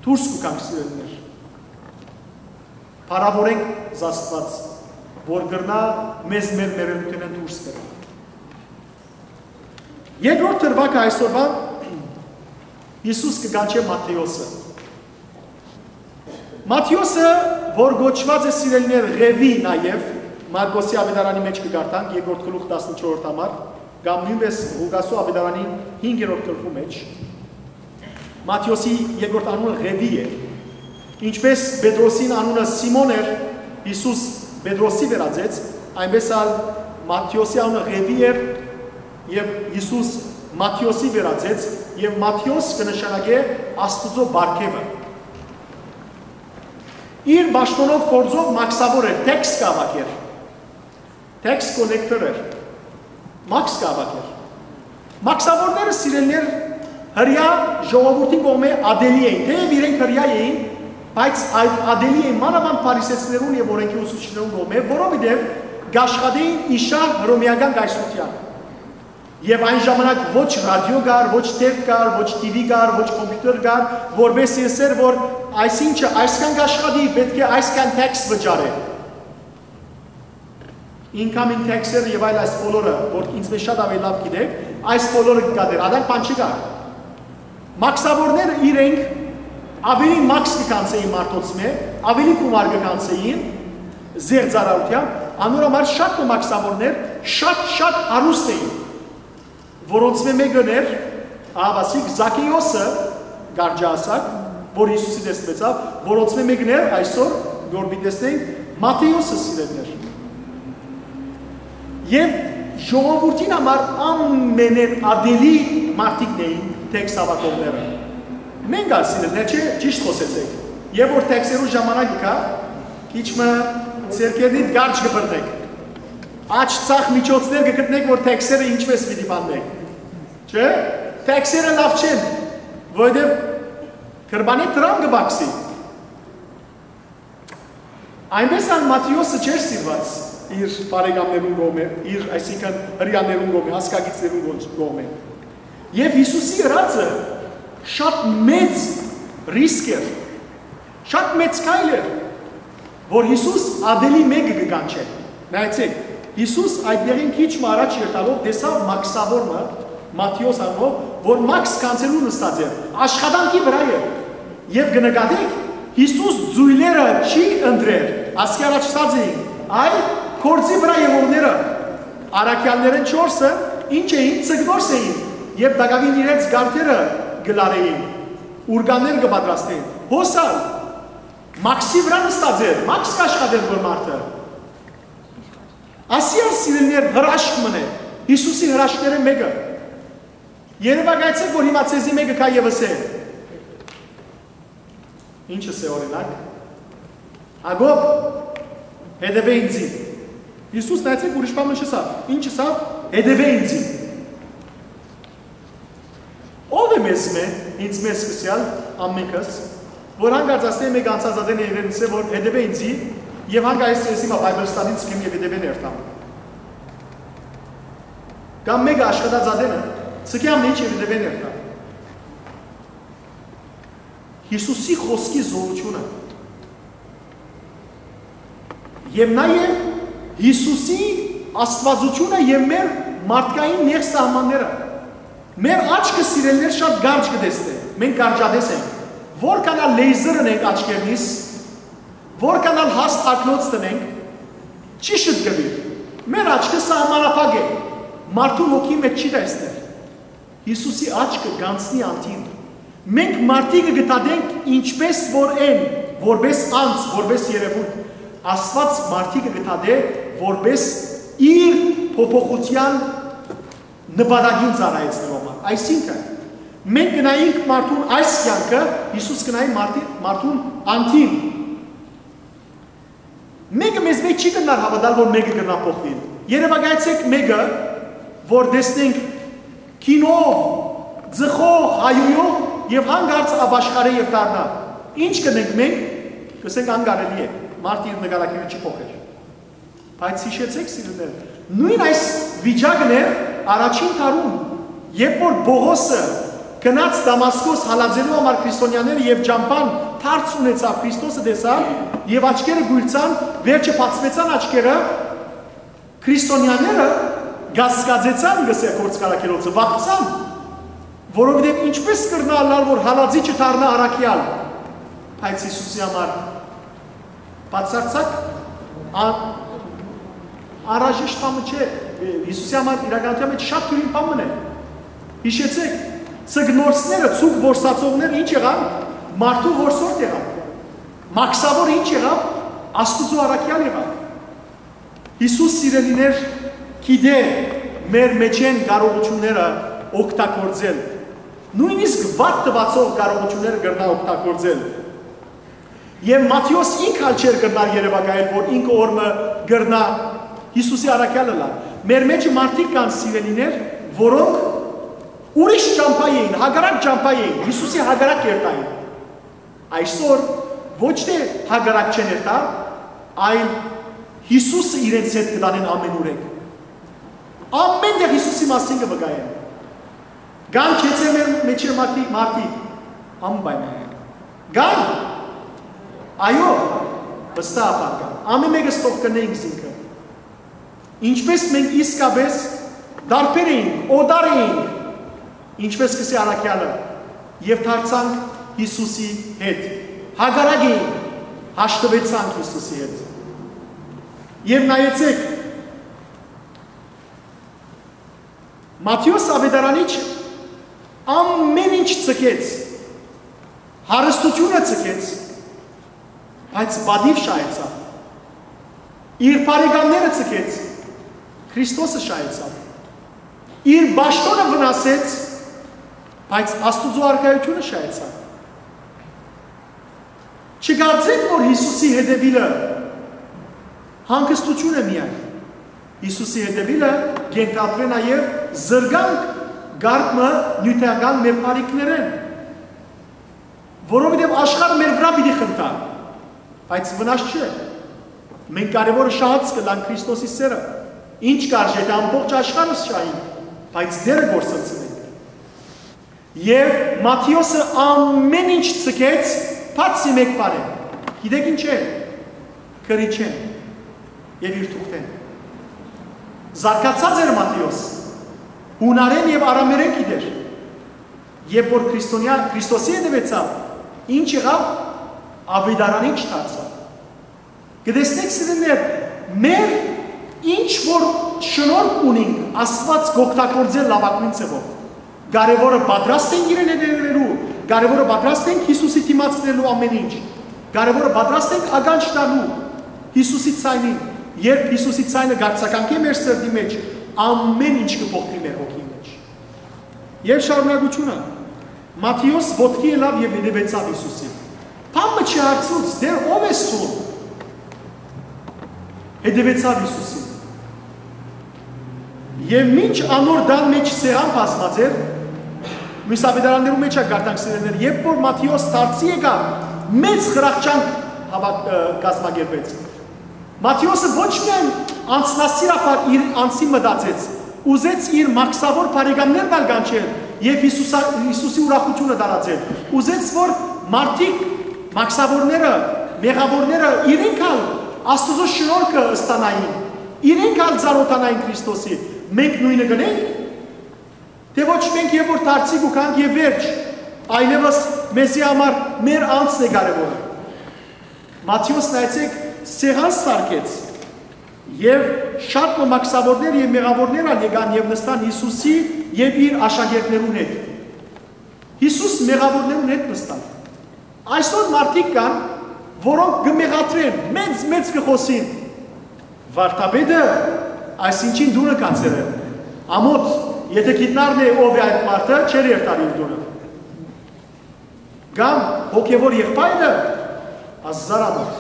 դուրս կու գանք, սիրելիներ։ Փառաւորենք Աստուած, որ կրնայ մեզ մեր մեռելութենէն դուրս բերել։ Երկրորդ դրուագը այսօրուան Յիսուս կը կանչէ Մատթէոսը։ Մատթէոսը, որ կոչուած է, սիրելիներ, Ղեւի նաեւ, Մարկոսի աւետարանի մէջ կը կարդանք, երկրորդ գլուխ, տասնչորսերորդ համար, կամ նոյնպէս Ղուկասու աւետարանի հինգերորդ գլխու մէջ, Մատթէոսի երկրորդ անունը Ղեւի է։ Ինչպէս Պետրոսին անունը Սիմոն էր, Յիսուս Պետրոսի վերածեց, այնպէս ալ Մատթէոսի անունը Ղեւի էր, եւ Յիսուս Մատթէոսի վերածեց, եւ Մատթէոս կը նշանակէ Աստուծոյ պարգեւը։ Իր պաշտօնով, գործով մաքսաւոր էր, թեքս կը հաւաքէր, թեքս կոլեկտոր էր, մաքս կը հաւաքէր։ Մաքսաւորները, սիրելիներ, հրեայ ժողովուրդին կողմէ ատելի էին, թէեւ իրենք հրեայ էին, բայց այդ ատելի էին մանաւանդ փարիսեցիներուն եւ օրէնքի ուսուցիչներուն կողմէ, որովհետեւ կ'աշխատէին իշարը հռոմէական կայսրութեան։ Եւ այն ժամանակ ոչ ռադիո կար, ոչ թերթ կար, ոչ TV կար, ոչ computer կար, որպէս ըսէր, որ այսինչը այսքան կ'աշխատի, պէտք է այսքան թեքս վճարէ։ Incoming tax-երը եւ այլ, այս բոլորը, որ ինձ մէջ շատ աւելի լաւ գիտեք, այս բոլորը կը կատեր, ադանք բան չկար։ Մաքսաւորները իրենք աւելի մաքս կը կանցէին մարդոց մէ, աւելի գումար կը կանցէին զերծարարութեան, անոր համար շատ մը մաքսաւորներ շատ, շատ հարուստ էին, որոնցմէ մէկն էր, ահաւասիկ Զաքէոսը, կարճ ասած, որ Յիսուսի տեսնուեցաւ, որոնցմէ մէկն էր այսօր, որ պիտի տեսնենք, Մատթէոսը, սիրելիներ։ Եւ ժողովուրդին համար ամենէն ատելի մարդիկն էին թեքս հաւաքողները։ Մենք ալ, սիրելիներ, չէ, ճիշտ խօսեցէք։ Երբ որ թեքսերու ժամանակը գայ, քիչ մը ձեռքերնիդ կարճ կը բռնեք։ Աջ, ձախ միջոցներ կը գտնեք, որ թեքսերը ինչպէս պիտի բաննեք։ Չէ՞։ Թեքսերը լաւ չեն, որովհետեւ գրպանի դրամ կը բացի։ Այնպէս ալ Մատթէոսը չէր սիրուած, իր բարեկամներուն կողմէ, իր, այսինքն, հրեաներուն կողմէ, ազգակիցներուն կողմէ։ Եւ Յիսուսի ըրածը շատ մեծ ռիսկ էր, շատ մեծ քայլ էր, որ Յիսուս ատելի մէկը կը կանչէ։ Նայեցէք, Յիսուս այդտեղին քիչ մը առաջ երթալով տեսաւ մաքսաւոր մը, Մատթէոս անունով, որ մաքս գանձերուն նստած էր, աշխատանքի վրայ էր։ Եւ կը նկատէք, Յիսուս ձոյլերը չի ընտրեր, ասկի առաջ ըսած էինք, այլ գործի վրայ եղողները, առաքեալներէն չորսը, ինչ էին, ձկնորս էին, եւ տակաւին իրենց գարթերը կը լարէին, ուրկաններ կը պատրաստէին։ Հոս ալ, մաքսի վրայ նստած էր, մաքս կ'աշխատէր որ մարդը։ Ասի ալ, սիրելիներ, հրաշք մըն է, Յիսուսի հրաշքներէն մէկը։ Երեւակայեցէք, որ հիմա ձեզի մէկը գայ եւ ըսէ։ Ինչ ըսէ, օրինակ, Յակոբ, հետեւէ ինծի։ Յիսուս, նայեցէք, ուրիշ բան մը չըսաւ։ Ինչ ըսաւ, հետեւէ ինծի։ Ո՞վ է մեզմէ, ինձ մեզ սկսեալ, ամենքս, որ հանկարծ ասէ մէկ անցած ատեն է իրեն ըսէ, որ հետեւէ ինծի, եւ հանկարծ ես հիմա Bible study-ն ցկեմ եւ հետեւէն երթամ։ Կամ մէկը աշխատած ատենը, ցկեմ ինչ եւ հետեւէն երթամ։ Յիսուսի խօսքի զօրութիւնը։ Եւ նաեւ Յիսուսի աստուածութիւնը եւ մեր մարդկային նեղ սահմանները։ Մեր աչքը, սիրելիներ, շատ կարճ կը տեսնէ։ Մենք կարճատես ենք։ Որքան ալ լեյզեր ընենք աչքերնիս, որքան ալ հաստ ակնոց տնենք, չի շտկուիր։ Մեր աչքը սահմանափակ է։ Մարդուն հոգի մէջ չի տեսներ։ Յիսուսի աչքը կ'անցնի անդին։ Մենք մարդիկը կը դատենք ինչպես որ են, որպես անձ, որպես երևույթ։ Աստուած մարդիկը կը դատէ որպես իր փոփոխութեան նպատակին ծառայեցնելու համար։ Այսինքն, մենք կնայինք մարդուն այս կեանքը, Յիսուս կնայի մարդի-, մարդուն անդին։ Մէկը մեզմէ չի կրնար հաւատալ, որ մէկը կրնայ փոխուիլ։ Երեւակայեցէք մէկը, որ տեսնենք կինով, ձխող, հայոյող եւ հանկարծ ապաշխարէ եւ դառնայ։ Ինչ կ'ընենք մենք, կ'ըսենք, անկարելի է, մարդը իր նկարագիրը չի փոխեր։ Բայց յիշեցէք, սիրելիներ, նոյն այս վիճակն էր առաջին դարուն, երբ որ Պողոսը գնաց Դամասկոս հալածելու համար քրիստոնեաները եւ ճամբան դարձ ունեցաւ, Քրիստոսը տեսան եւ աչքերը գոյլցան, վերջը բացուեցան աչքերը, քրիստոնեաները կասկածեցան, կ'ըսէ գործ կարգելոցը, վախցան, որովհետեւ ինչպես կրնայ ըլլալ, որ հալածիչը դառնայ առաքեալ, բայց Յիսուսի համար բացարձակ ան-, անհրաժեշտ բան մը չէ, Յիսուսի համար իրականության մէջ շատ դիւրին բան մը է։ Յիշեցէք, ձկնորսները, ձուկ որսացողները ինչ եղան, մարդու որսորդ եղան, մաքսաւոր ինչ եղաւ, Աստուծոյ առաքեալ եղաւ։ Յիսուս, սիրելիներ, գիտէ մեր մէջէն կարողութիւնները օգտագործել, նոյնիսկ վատ տուածող կարողութիւնները կրնայ օգտագործել։ Եւ Մատթէոս ինք ալ չէր կրնար երեւակայել, որ ինքը օրմը կրնայ Յիսուսի առաքեալ ըլլալ։ Մեր մէջը մարդիկ կան, սիրելիներ, որոնք ուրիշ ճամբայ էին, հակառակ ճամբայ էին, Յիսուսի հակառակ երթային։ Այսօր ոչ թէ հակառակ չեն երթար, այլ Յիսուսը իրենց հետ կտանեն ամենուրեք։ Ամեն տեղ Յիսուսի մասին կը վկայեն։ Կան գեցե մեր մեջը մարդիկ, մարդիկ, անպայման։ Կան։ Այո, վստահաբար կան։ Ամեն մեկը ստոխ կնենք զինքը։ Ինչպես մենք իսկապես տարբեր էինք, օտար էինք, ինչպես կսի առաքյալը, եւ դարձանք Յիսուսի հետ, հակառակ էինք, հաշտվեցանք Յիսուսի հետ։ Եւ նայեցեք, Մատթէոս Աւետարանիչ ամեն ինչ ձգեց, հարստությունը ձգեց, բայց պատիւ շահեցաւ։ Իր բարեկամները ձգեց, Քրիստոսը շահեցաւ։ Իր պաշտօնը վնասեց, բայց Աստուծոյ արքայութիւնը շահեցաւ։ Չկարծեք, որ Յիսուսի հետեւիլը հանգստութիւն է միայն։ Յիսուսի հետեւիլը կ'ենթադրէ նաեւ զրկանք կարգ մը նիւթական մեր բարիքներէն, որովհետեւ աշխարհը մեր վրայ պիտի խնդայ, բայց վնաս չէ։ Մենք կարեւորը շահած կ'ըլլանք Քրիստոսի սերը։ Ինչ կ'արժէ, թէ ամբողջ աշխարհը շահենք, բայց Տէրը կորսնցնենք։ Եւ Մատթէոսը ամէն ինչ ձգեց, բացի մէկ բանէ։ Գիտէք ինչ է։ Գրիչէն եւ իր թուղթէն։ Զարգացած էր Մատթէոս։ Յունարէն եւ արամերէն գիտեր։ Երբ որ քրիստոնեա, Քրիստոսի հետեւեցաւ, ինչ եղաւ, աւետարանիչ դարձաւ։ Կը տեսնենք, սիրելիներ, մեր ինչ որ շնորհք ունինք, Աստուած կ'օգտագործէ լաւագոյն ձեւով։ Կարեւորը պատրաստ ենք իրեն հետեւելու, կարեւորը պատրաստ ենք Յիսուսի դիմաց տալու ամէն ինչ, կարեւորը պատրաստ ենք ականջ տալու Յիսուսի ձայնին, երբ Յիսուսի ձայնը կ'արձագանքէ մեր սրտի մեջ, ամէն ինչ կը փոխուի մեր հոգին մեջ։ Եւ շարունակութիւնը. Մատթէոս ոտքի ելաւ եւ հետեւեցաւ Յիսուսին։ Բան մը չհարցուց, դեռ ո՞վ ես դուն։ Հետեւեցաւ Յիսուսին։ Եւ մինչ անոր տան մեջ սեղան բազմած էր, միս աւետարաններու մեջ ա կարդանք, սիրելիներ, երբ որ Մատթէոս դարձի եկաւ, մեծ խրախճանք հաւաք-, ը, կազմակերպեց։ Մատթէոսը ոչ միայն անձնասիրաբար իր անձին մտածեց, ուզեց իր մաքսաւոր բարեկամներն ալ կանչել եւ Յիսուսա-, Յիսուսի ուրախութիւնը տարածել։ Ուզեց, որ մարդիկ, մաքսաւորները, մեղաւորները իրենք ալ Աստուծոյ շնորհքը ստանային, իրենք ալ ծանօթանային Քրիստոսի։ Մենք նոյնը կ'ընենք, թէ ոչ, մենք երբ որ դարձի կու գանք եւ վերջ, այլեւս մեզի համար մեր անձն է կարեւորը։ Մատթէոս, նայեցէք, սեղան սարքեց եւ շատ մը մաքսաւորներ եւ մեղաւորներ ալ եկան եւ նստան Յիսուսի եւ իր աշակերտներուն հետ։ Յիսուս մեղաւորներուն հետ նստան։ Այսօր մարդիկ կան, որոնք կը մեղադրեն, մեծ-մեծ կը խօսին։ Վարդապետը այսինչին տունը գացեր է։ Ամոթ, եթե գիտնար նե ով է այդ մարդը, չէր երթար իր տունը։ Կամ հոգեվոր եղբայրը, ազար ամոթ։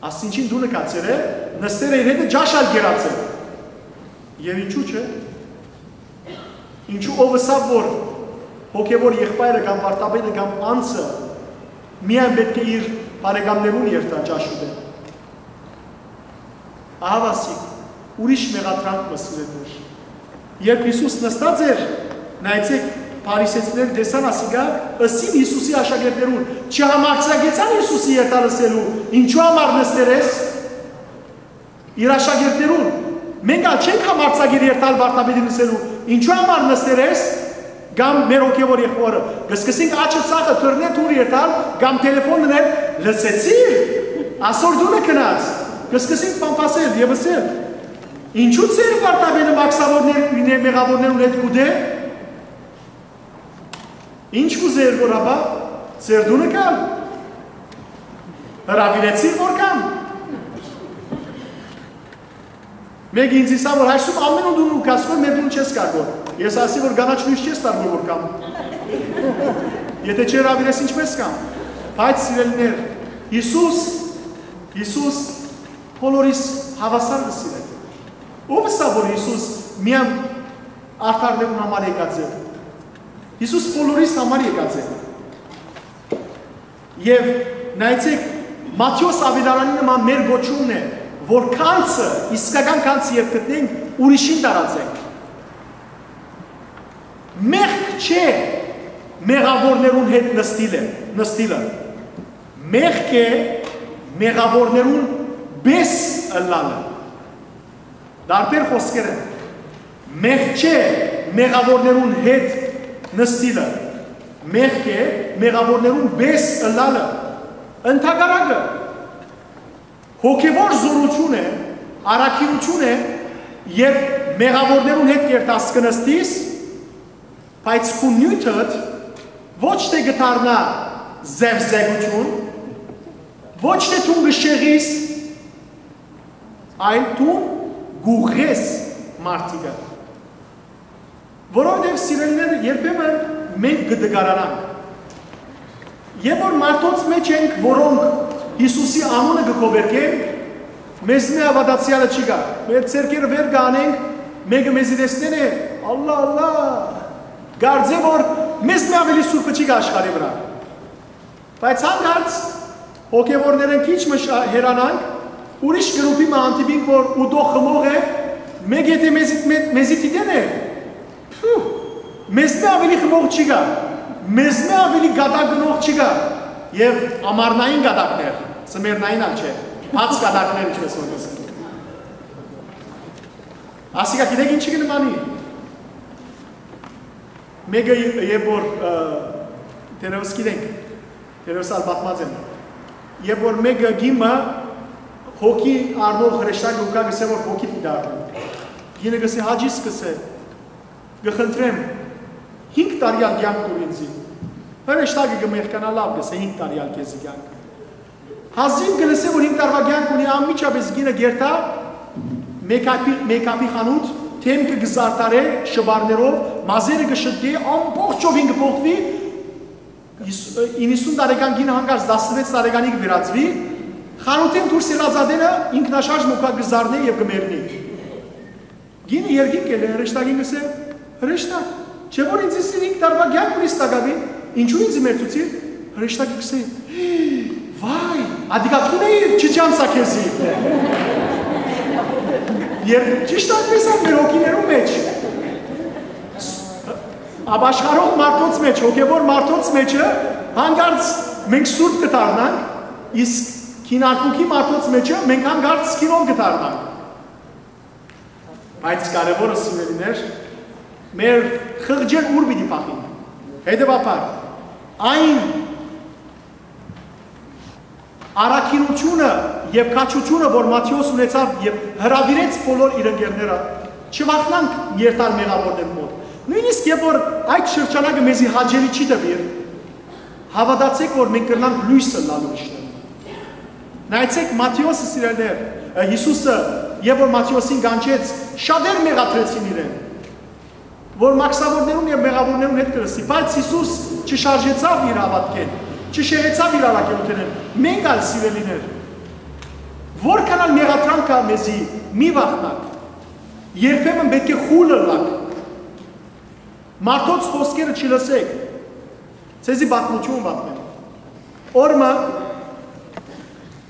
Այսինչին տունը գացեր է, նստեր է իր հետը, ճաշ ալ կերած է։ Եւ ինչու՞ չէ։ Ինչու ով ըսաւ, որ հոգեվոր եղբայրը կամ վարդապետը կամ անձը միայն պէտք է իր բարեկամներուն երթայ ճաշ ուտել։ Ահա ասիկ, ուրիշ մեղադրանք մը, սիրելիներ։ Երբ Յիսուս նստած էր, նայեցեք, փարիսեցիները տեսան ասիկա, ըսին Յիսուսի աշակերտներուն, չհամարձակեցան Յիսուսի երթալ ըսելու, ինչու համար նստեր ես։ Իր աշակերտներուն, մենք ալ չենք համարձակիր երթալ վարդապետին ըսելու, ինչու համար նստեր ես, կամ մեր հոգեվոր եղբորը, կսկսենք աչքը ծախը թռնե դուր երթալ, կամ տելեֆոն դնել, լսեցի՞ր, ասոր դունը գնաց, կսկսենք պամպասել եւ ըսել, ինչու՞ ձեր վարդապետը մաքսաւորներ, մեղաւորներուն հետ կուտէ։ Ինչ կ'ուզէր, որ ապա ձեր տունը գալ։ Հրաւիրեցի՞ր, որ գամ։ Մեկը ինձ ըսաւ, որ այսում ամէն օր դուն ու կասկոր մեր տուն չես գար, որ։ Ես ասի, որ կանաչ լոյս չես տար, որ, որ գամ։ Եթե չհրաւիրես, ինչպես գամ։ Բայց, սիրելիներ, Յիսուս, Յիսուս բոլորիս հաւասար կը սիրէ։ Ո՞վ ըսաւ, որ Յիսուս միայն արդարներուն համար եկած է։ Յիսուս բոլորիս համար եկած է։ Եւ նայեցեք, Մատթէոս աւետարանին նման մեր կոչումն է, որ գանձը, իսկական գանձը երբ գտնենք, ուրիշին տարածենք։ Մեղք չէ մեղաւորներուն հետ նստիլը, նստիլը։ Մեղք է մեղաւորներուն պէս ըլլալը։ Տարբեր խօսքեր են։ Մեղք չէ մեղաւորներուն հետ նստիլը։ Մեղք է մեղաւորներուն պէս ըլլալը։ Ընդհակառակը, հոգեվոր զօրութիւն է, առաքինութիւն է, երբ մեղաւորներուն հետ կերտաս կը նստիս, բայց քու նիւթդ ոչ թէ կը դառնայ զերզերութիւն, ոչ թէ դուն կը շեղիս, այլ դուն կ'ուղղես մարդիկը։ Որովհետեւ, սիրելիներ, երբեմն մենք կը տկարանանք։ Երբ որ մարդոց մեջ ենք, որոնք Յիսուսի անունը կը գովերգեն, մեզմէ հաւատացեալը չի գա։ Մեր ձեռքերը վեր կ'անենք, մէկը մեզի տեսնեն է, ալլա, ալլա, կարծէ որ մեզմէ աւելի սուրբը չի գա աշխարհի վրայ։ Բայց հանկարծ հոգեվորներէն քիչ մը շա-, հեռանանք, Ուրիշ գրուպի մը հանդիպինք, որ ուտող խմող է, մէկ եթէ մեզի, մե-, մեզի դիտեն է, փու, մեզմէ աւելի խմող չի գա, մեզմէ աւելի կատակ գնող չի գա, եւ ամառնային կատակներ, ձմեռնային ալ չէ, բաց կատակներ, ինչպես որ կ'ըսեն։ Ասիկա գիտեք ինչի կը նմանի։ Մէկը, երբ որ, ը, դեռեւս գիտենք, դեռեւս ալ պատմած եմ, երբ որ մէկը կին մը հոգի առնող հրեշտակը ու կայ, կ'ըսէ որ հոգի պիտի դառնա։ Կինը կ'ըսէ, Հաճիս, կ'ըսէ, կը խնդրեմ, հինգ տարի ալ կեանք տուր ինծի։ Հրեշտակը կը մեղկանայ, լաւ, կ'ըսէ, հինգ տարի ալ քեզի կեանք։ Հազիւ կը լսէ որ հինգ տարուայ կեանք ունի, անմիջապէս կինը կ'երթայ make-up-ի, make-up-ի խանութ, դէմքը կը զարդարէ շպարներով, մազերը կը շտկէ, ամբողջովին կը փոխուի, իննսուն տարեկան կինը հանկարծ տասնվեց տարեկանի կը վերածուի, խանութէն դուրս ելած ատենը ինքնաշարժ մը կը զարնէ եւ կը մեռնի։ Կինը երկինք ելլի, հրեշտակին կ'ըսէ, Հրեշտակ, չէ՞ որ ինձ հինգ տարուայ կեանք ունիս տակաւին, ինչո՞ւ ինձ մերձուցիր։ Հրեշտակը կ'ըսէ, Վայ, ատիկա դուն էիր, չի չանցայ քեզի։ Եւ ճիշդ այդպէս ալ մեր հոգիներու մէջ, ապաշխարող մարդոց մէջ, հոգեւոր մարդոց մէջը հանկարծ մենք սուրբ կը դառնանք, իսկ քինարբուքի մարդոց մէջը մենք հանկարծ քինով կը դառնանք։ Բայց կարեւորը, սիրելիներ, մեր խղճեր ո՞ւր պիտի փախին։ Հետեւաբար, այն առաքինութիւնը եւ քաջութիւնը, որ Մատթէոս ունեցաւ եւ հրաւիրեց բոլոր իր ընկերները, չվախնանք երթալ մեղաւորներու մօտ։ Նոյնիսկ երբ որ այդ շրջանակը մեզի հաճելի չի թուիր, հաւատացէք, որ մենք կրնանք լոյս ըլլալ ուրիշներուն։ Նայեցէք, Մատթէոսը, սիրելիներ, ը, Յիսուսը, երբ որ Մատթէոսին կանչեց, շատեր մեղադրեցին իրեն, որ մաքսաւորներուն եւ մեղաւորներուն հետ կը լսի, բայց Յիսուս չշարժեցաւ իր հաւատքէն, չշեղեցաւ իր առաքելութենէն։ Մենք ալ, սիրելիներ, որքան ալ մեղադրանք կայ մեզի, մի վախնաք, երբեմն պէտք է խուլ ըլլաք, մարդոց խօսքերը չլսէք, ձեզի պատմութիւն պատմեմ։ Օր մը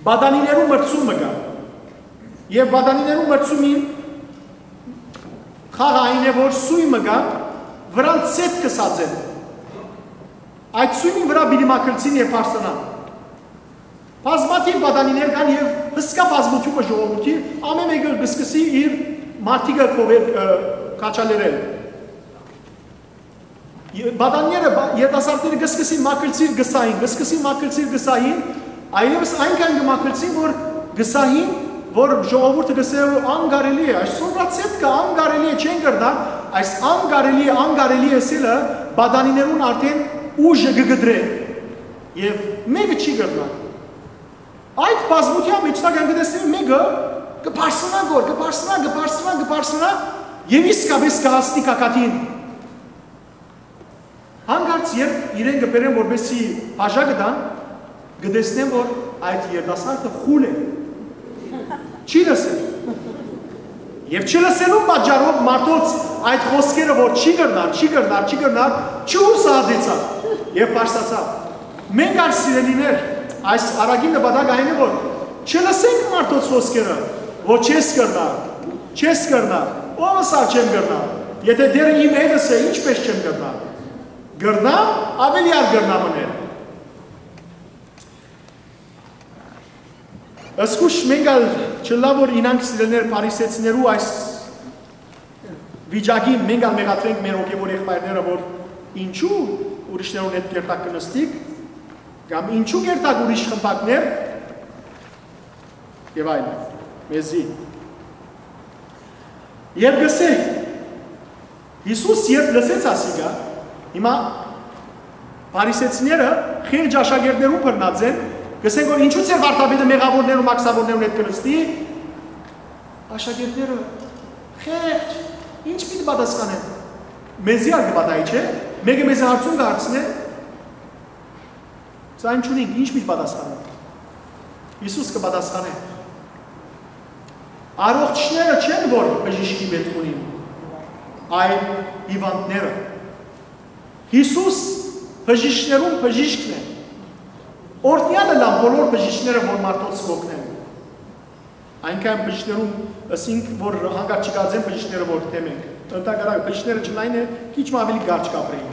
պատանիներու մրցում մը կայ, եւ պատանիներու մրցումին խաղը այն է, որ սոյ մը կայ, վրան ցետ կը սածեն։ Այդ սոյնին վրայ պիտի մագլցին եւ բարձրանան։ Բազմաթիւ պատանիներ կան եւ հսկայ բազմութիւնը ժողովուրդի, ամէն մէկը կը սկսի իր մարտիկը կովեր, ը, քաչալերել։ Ե-, պատանիները, բա-, երիտասարդները կը սկսին մագլցիլ կը սային, կը սկսին մագլցիլ կը սային, այլեւս այնքան կը մագլցին, որ կը սային, որ ժողովուրդը կ'ըսէ, որ անկարելի է, այս սորացետ կայ, անկարելի է, չեն կրնար, այս անկարելի է, անկարելի է ըսելը պատանիներուն արդէն ուժը կը կտրէ եւ մէկը չի կրնար։ Այդ բազմութեան մէջ տակ կը տեսնի մէկը կը բարձրանայ գոր, կը բարձրանայ, կը բարձրանայ, կը բարձրանայ եւ իսկապէս կը հասնի գագաթին։ Հանկարծ երբ իրեն կը բերեն, որպեսզի բաժակը տան, կը տեսնեն, որ այդ երիտասարդը խուլ է, չի լսել։ Եւ չլսելու պատճառով մարդոց այդ խօսքերը, որ չի կրնար, չի կրնար, չի կրնար, չհուսահատեցաւ եւ բարձրացաւ։ Մենք ալ, սիրելիներ, այս առակի նպատակը այն է, որ չլսենք մարդոց խօսքերը, որ չես կրնար, չես կրնար, ո՞վ ըսաւ չեմ կրնար, եթե դեռ իմ հետս է, ինչպես չեմ կրնար։ Կրնամ, աւելի ալ կրնամ ընել։ Զգուշ մենք ալ չըլլայ որ իյնանք, սիրելիներ, փարիսեցիներու այս վիճակին, մենք ալ մեղադրենք մեր հոգեւոր եղբայրները, որ ինչու ուրիշներուն հետ կերտակ կը նստիք, կամ ինչու կերտակ ուրիշ խմբակներ, եւ այլն, մեզի։ Եւ կ'ըսէ, Յիսուս երբ լսեց ասիկա, հիմա փարիսեցիները խեղճ աշակերտներուն բռնած են, կ'ըսեն որ ինչու ձեր վարդապետը մեղաւորներուն, մաքսաւորներուն հետ կը նստի, աշակերտները խեղճ, ինչ պիտի պատասխանեն, մեզի ալ կը պատահի, չէ՞, մէկը մեզի հարցում կը հարցնէ, Սա այն չունինք, ինչ պիտի պատասխանենք։ Յիսուս կը պատասխանէ. «Առողջները չեն, որ բժիշկի պէտք ունին, այլ հիվանդները»։ Յիսուս բժիշկներուն բժիշկն է։ Օրհնեալը լան բոլոր բժիշկները, որ մարդոց կ'օգնեն։ Այնքան բժիշկներուն ըսինք, որ հանկարծ չկարծեն բժիշկները որ դեմ ենք։ Ընդհակառակը, բժիշկները չնայինը քիչ մը աւելի կարճ կապրեին։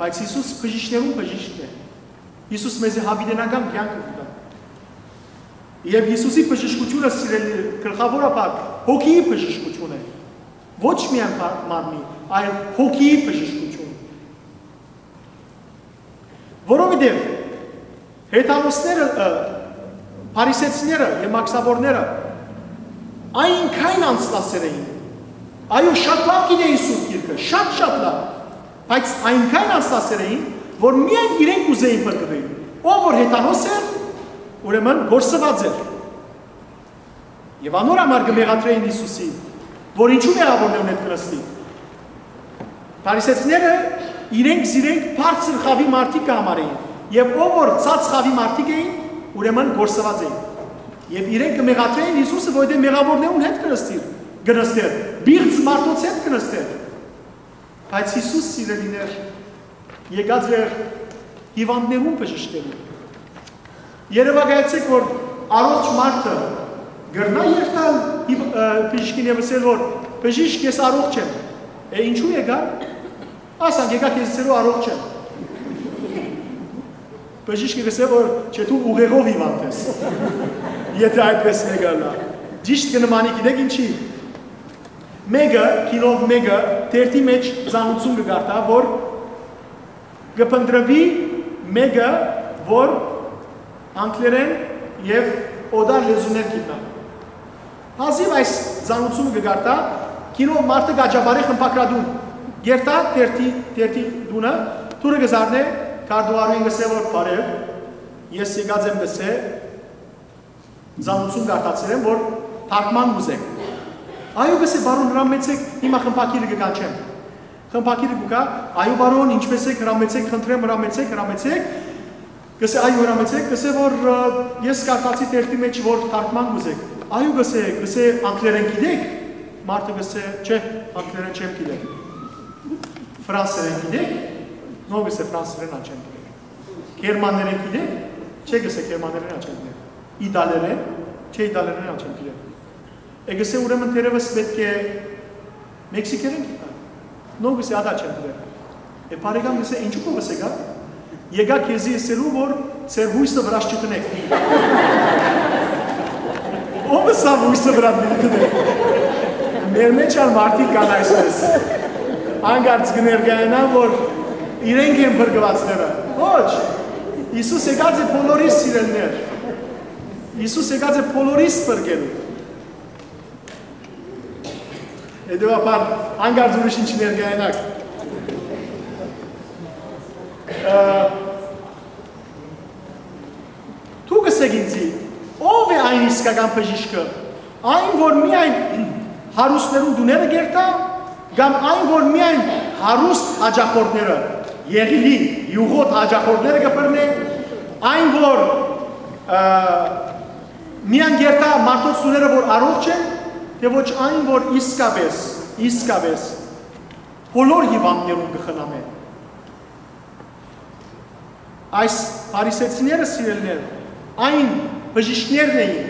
Բայց Յիսուս բժիշկներուն բժիշկն է։ Յիսուս մեզի յաւիտենական կեանքը կու տայ։ Եւ Յիսուսի բժշկութիւնը, սիրելի, գլխաւորաբար հոգիի բժշկութիւն է։ Ոչ միայն բա-, մարմնի, այլ հոգիի բժշկութիւն։ Որովհետեւ հեթանոսները, ը, փարիսեցիները եւ մաքսաբորները այնքան անձնասեր էին։ Այո, շատ լաւ գիտէին Սուրբ Գիրքը, շատ, շատ լաւ, բայց այնքան անձնասեր էին, որ միայն իրենք կ'ուզէին փրկուիլ։ Ով որ հեթանոս էր, ուրեմն կորսուած էր։ Եւ անոր համար կը մեղադրէին Յիսուսին, որ ինչու մեղաւորներուն հետ կը նստի։ Փարիսեցիները իրենք զիրենք բարձր խաւի մարդիկ կը համարէին, եւ ով որ ցած խաւի մարդիկ էին, ուրեմն կորսուած էին։ Եւ իրենք կը մեղադրէին Յիսուսը, որովհետեւ մեղաւորներուն հետ կը նստի, կը նստեր, պիղծ մարդոց հետ կը նստեր։ Բայց Յիսուս, սիրելիներ, եկած էր հիւանդներուն բժշկելու։ Երեւակայեցէք, որ առողջ մարդը կրնա երթալ հիվ-, ը, բժիշկին եւ ըսել, որ «Բժիշկ, ես առողջ եմ»։ Է, ինչու եկա։ Ասանք, եկա քեզի ըսելու՝ «Առողջ եմ»։ Բժիշկը կ'ըսէ, որ «Չէ, դու ուղեղով հիվանդ ես»։ Եթե այդպես մեկը ըլլայ։ Ճիշդ կը նմանի, գիտէք ինչի։ Մէկը, գինով մէկը, թերթի մէջ ծանուցում կը կարդայ, որ կը փնտռուի մէկը, որ անգլերէն եւ օտար լեզուներ գիտնայ։ Հազիւ այս ծանուցումը կը կարդայ, գինով մարդը կ'աճապարէ խմբակրատուն, կ'երթայ թերթի, թերթի տունը, դուռը կը զարնէ, քարտուղարուհին կ'ըսէ, որ «Բարեւ, ես եկած եմ», կ'ըսէ, «ծանուցում կարդացեր եմ, որ թարգման կ'ուզեմ»։ «Այո», կ'ըսէ, «բարոյ, հրամեցէք, հիմա խմբագիրը կը կանչեմ»։ Խմբագիրը կու գայ, «Այո, բարոյ, ինչպէս եք, հրամեցէք, խնդրեմ, հրամեցէք, հրամեցեք»։ Կ'ըսէ, «Այո, հրամեցէք», կ'ըսէ, որ, ը, «ես կարդացի թերթի մէջ, որ թարգման կ'ուզեք»։ «Այո», կ'ըսէ, կ'ըսէ, «անգլերէն գիտեք»։ Մարդը կ'ըսէ, «Չէ, անգլերէն չեմ գիտեր»։ «Ֆրանսերէն գիտեք»։ «Նո», կ'ըսէ, «ֆրանսերէն ալ չեմ գիտեր»։ «Գերմաներէն գիտեք»։ «Չէ», կ'ըսէ, «գերմաներէն ալ չեմ գիտեր»։ «Իտալերէն»։ «Չէ, իտալերէն ալ չեմ գիտեր»։ Է, կ'ըսէ, «Ուրեմն թերեւս պէտք է մեքսիկերէն գիտնայ»։ «Նո», կ'ըսէ, «Ատա չեմ գիտեր»։ Է, բարեկամ, կ'ըսէ, «Ինչու՞ կ'ըսէ գա»։ «Եկայ քեզի ըսելու, որ ձեր յոյսը վրաս չդնեք»։ Ո՞վ ըսաւ յոյսը վրաս պիտի դնեք։ Մեր մէջ ալ մարդիկ կան այսպես։ Անկարծ կը ներկայանան, որ իրենք են փրկուածները։ Ոչ։ Յիսուս եկած է բոլորիս, սիրելիներ։ Յիսուս եկած է բոլորիս փրկելու։ Հետեւաբար, անկարծ ուրիշ ինչ ներկայանաք։ Ը, դուք ըսէք ինձի, ո՞վ է այն իսկական բժիշկը, այն, որ միայն հարուստներուն տուները կերթայ, կամ այն, որ միայն հարուստ հաճախորդները, եղիլի, յուղոտ հաճախորդները կը բռնէ, այն, որ, ը, միայն կերթայ մարդոց տուները, որ առողջ են, թէ ոչ այն, որ իսկապէս, իսկապէս բոլոր հիւանդներուն կը խնամէ։ Այս փարիսեցիները, սիրելիներ, այն բժիշկներն էին,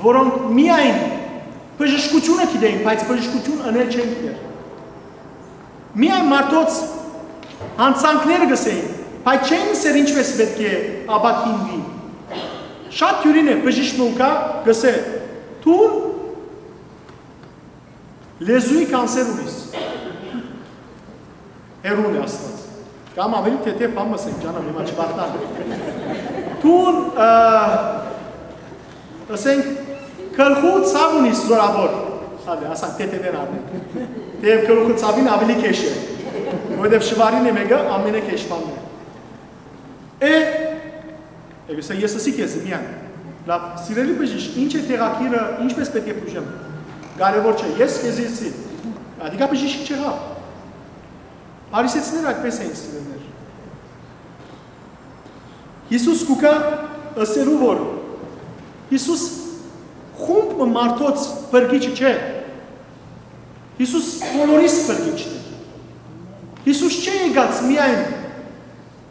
որոնք միայն բժշկութիւնը գիտէին, բայց բժշկութիւն ընել չեն գիտեր։ Միայն մարդոց յանցանքները կ'ըսէին, բայց չէին ըսեր ինչպէս պէտք է ապաքինուի։ Շատ դիւրին է, բժիշկ մը կու գայ, կ'ըսէ, «Դուն լեզուի կանսեր ունիս»։ Հեռուն է Աստուած։ Կամ աւելի թեթեւ բան մը ասենք, ջանամ, հիմա չբախնան։ Դուն, ը, ասենք, գլխու ցաւ ունիս զորաւոր։ Հալի, ասանք, թեթեւէն առնենք։ Թեեւ գլխու ցաւին աւելի քեշ է, որովհետեւ շուարին է մէկը, ամենը քեշ բանն է։ Է, է, կ'ըսէ, ես ըսի քեզ միայն, լաւ, սիրելի բժիշկ, ինչ է տեղագիրը, ինչպես պէտք է բուժեմ։ Կարեւոր չէ, ես քեզի ըսի։ Ադիկա բժիշկ չեղա։ Փարիսեցիները այդպես էին, սիրելիներ։ Յիսուս կու գայ ըսելու, որ Յիսուս խումբ մը մարդոց փրկիչը չէ։ Յիսուս բոլորիս փրկիչն է։ Յիսուս չէ եկած միայն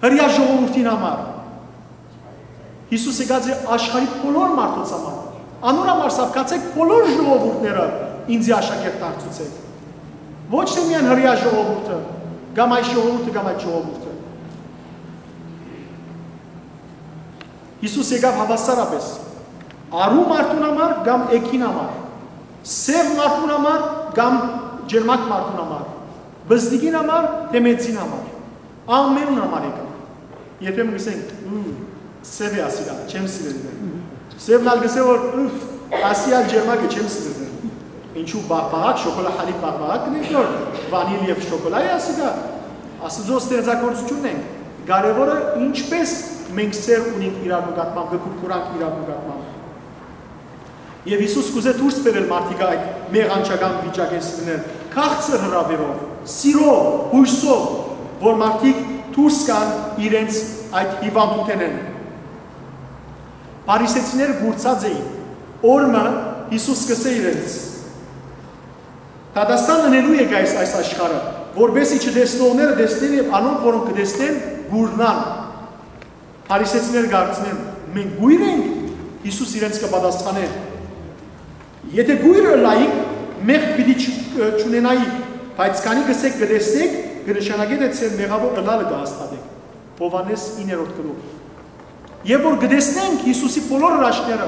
հրեայ ժողովուրդին համար։ Յիսուս եկած է աշխարհի բոլոր մարդոց համար։ Անոր համար սա, գացէք բոլոր ժողովուրդները ինծի աշակերտ դարձուցէք։ Ոչ թէ միայն հրեայ ժողովուրդը, կամ այս ժողովուրդը, կամ այդ ժողովուրդը։ Յիսուս եկաւ հաւասարապէս, արու մարդուն համար կամ էգին համար, սեւ մարդուն համար կամ ջերմակ մարդուն համար, բզդիկին համար թէ մեծին համար, ամենուն համար եկաւ։ Երբեմն կ'ըսենք, «Ու, սեւ է ասիկա, չեմ սիրել իրեն»։ Սեւն ալ կ'ըսէ որ, «Ուֆ, ասի ալ ջերմակ է, չեմ սիրել իրեն»։ Ինչու բաղբաղակ, շոկոլա, հալիբ բաղբաղակ կ'ընենք, որ վանիլ եւ շոկոլա է ասիկա։ Աստուծոյ ստեղծագործութիւնն ենք։ Կարեւորը ինչպէս մենք սեր ունենք իրար նկատմամբ, կը կուրկուրանք իրար նկատմամբ։ Եւ Յիսուս կ'ուզէ դուրս բերել մարդիկ այդ մեղանչական վիճակէն, սիրելիներ, քաղցր հրաւերով, սիրով, յոյսով, որ մարդիկ դուրս գան իրենց այդ հիւանդութենէն։ Փարիսեցիները կուրցած էին։ Օր մը Յիսուս կ'ըսէ իրենց. «Դատաստան ընելու եկայ այս, այս աշխարհը, որպէս զի չտեսնողները տեսնեն եւ անոնք, որոնք կը տեսնեն, կուրնան»։ Փարիսեցիները կ'արցնեն. «Մենք կո՞յր ենք»։ Յիսուս իրենց կը պատասխանէ. «Եթէ կո՞յր ըլլայիք, մեղք պիտի չ-, չունենայիք, բայց քանի կ'ըսէք կը տեսնենք, կը նշանակէ թէ ձեր մեղաւոր ըլլալը կը հաստատէք»։ Յովհաննէս իններորդ գլուխ։ Եւ որ կը տեսնենք Յիսուսի բոլոր հրաշքները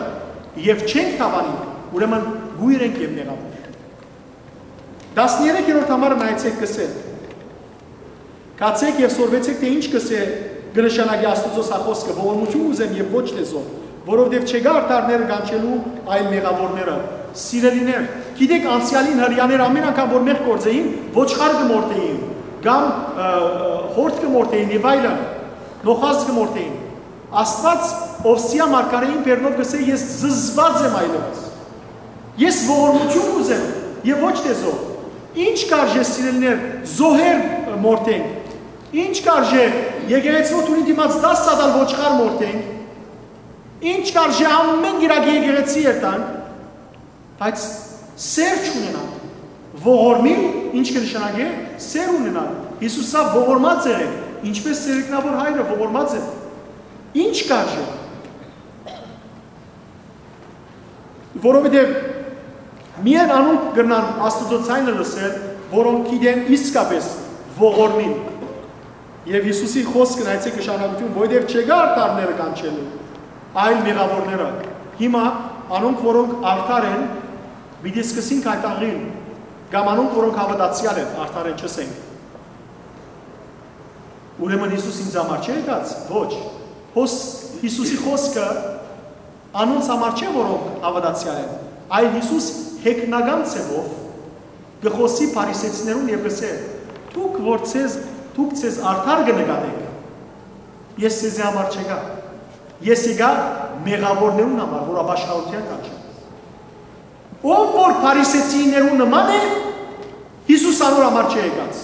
եւ չենք դաւանի, ուրեմն կո՞յր ենք եւ մեղաւոր։ Տասներեքերորդ համարը նայեցէք, կ'ըսէ. «Գացէք եւ սորվեցէք թէ ինչ կ'ըսէ, կը նշանակէ Աստուծոյ սա խօսքը. ողորմութիւն կ'ուզեմ եւ ոչ թէ զոհ, որովհետեւ չեկայ արդարները կանչելու, այլ մեղաւորները»։ Սիրելիներ, գիտէք, անցեալին հրեաները ամէն անգամ որ մեղք գործէին, ոչխար կը մորթէին, կամ, ը, ը, հորդ կը մորթէին եւ այլն, նոխազ կը մորթէին։ Աստուած, ով սիա մարգարէին բերնով կ'ըսէ, «Ես զզված եմ այլեւս։ Ես ողորմութիւն կ'ուզեմ եւ ոչ թէ զոհ»։ Ի՞նչ կարժէ, սիրելիներ, զոհեր մորթենք։ Ի՞նչ կարժէ եկեղեցւոյ դուռին դիմաց դաս սատալ, ոչխար մորթենք։ Ի՞նչ կարժէ, ամէն կիրակի եկեղեցի երթանք, բայց սեր չունենանք։ Ողորմիլ ի՞նչ կը նշանակէ, սեր ունենալ։ Յիսուս սա ողորմած եղեք, ինչպէս ձեր ինքնաւոր հայրը ողորմած է։ Ի՞նչ կարժէ։ Որովհետեւ միայն անոնք կրնան Աստուծոյ ձայնը լսել, որոնք գիտեն իսկապէս ողորմիլ։ Եւ Յիսուսի խօսքը, նայեցէք, նշանակութիւն, որովհետեւ չեկայ արդարները կանչելու, այլ մեղաւորները։ Հիմա անոնք, որոնք արդար են, պիտի սկսին գայթակղիլ, կամ անոնք, որոնք հաւատացեալ են, արդար են, չըսենք։ Ուրեմն Յիսուս ինձ համար չէ՞ եկած։ Ոչ։ Հոս Յիսուսի խօսքը անոնց համար չէ, որոնք հաւատացեալ են, այլ Յիսուս հեգնական ձեւով կը խօսի փարիսեցիներուն եւ կ'ըսէ. «Դուք որ ձեզ, դուք ձեզ արդար կը նկատէք, ես ձեզի համար չեկայ։ Ես եկայ մեղաւորներուն համար, որ ապաշխարութեան կանչեմ»։ Ով որ փարիսեցիներուն նման է, Յիսուս անոր համար չէ եկած։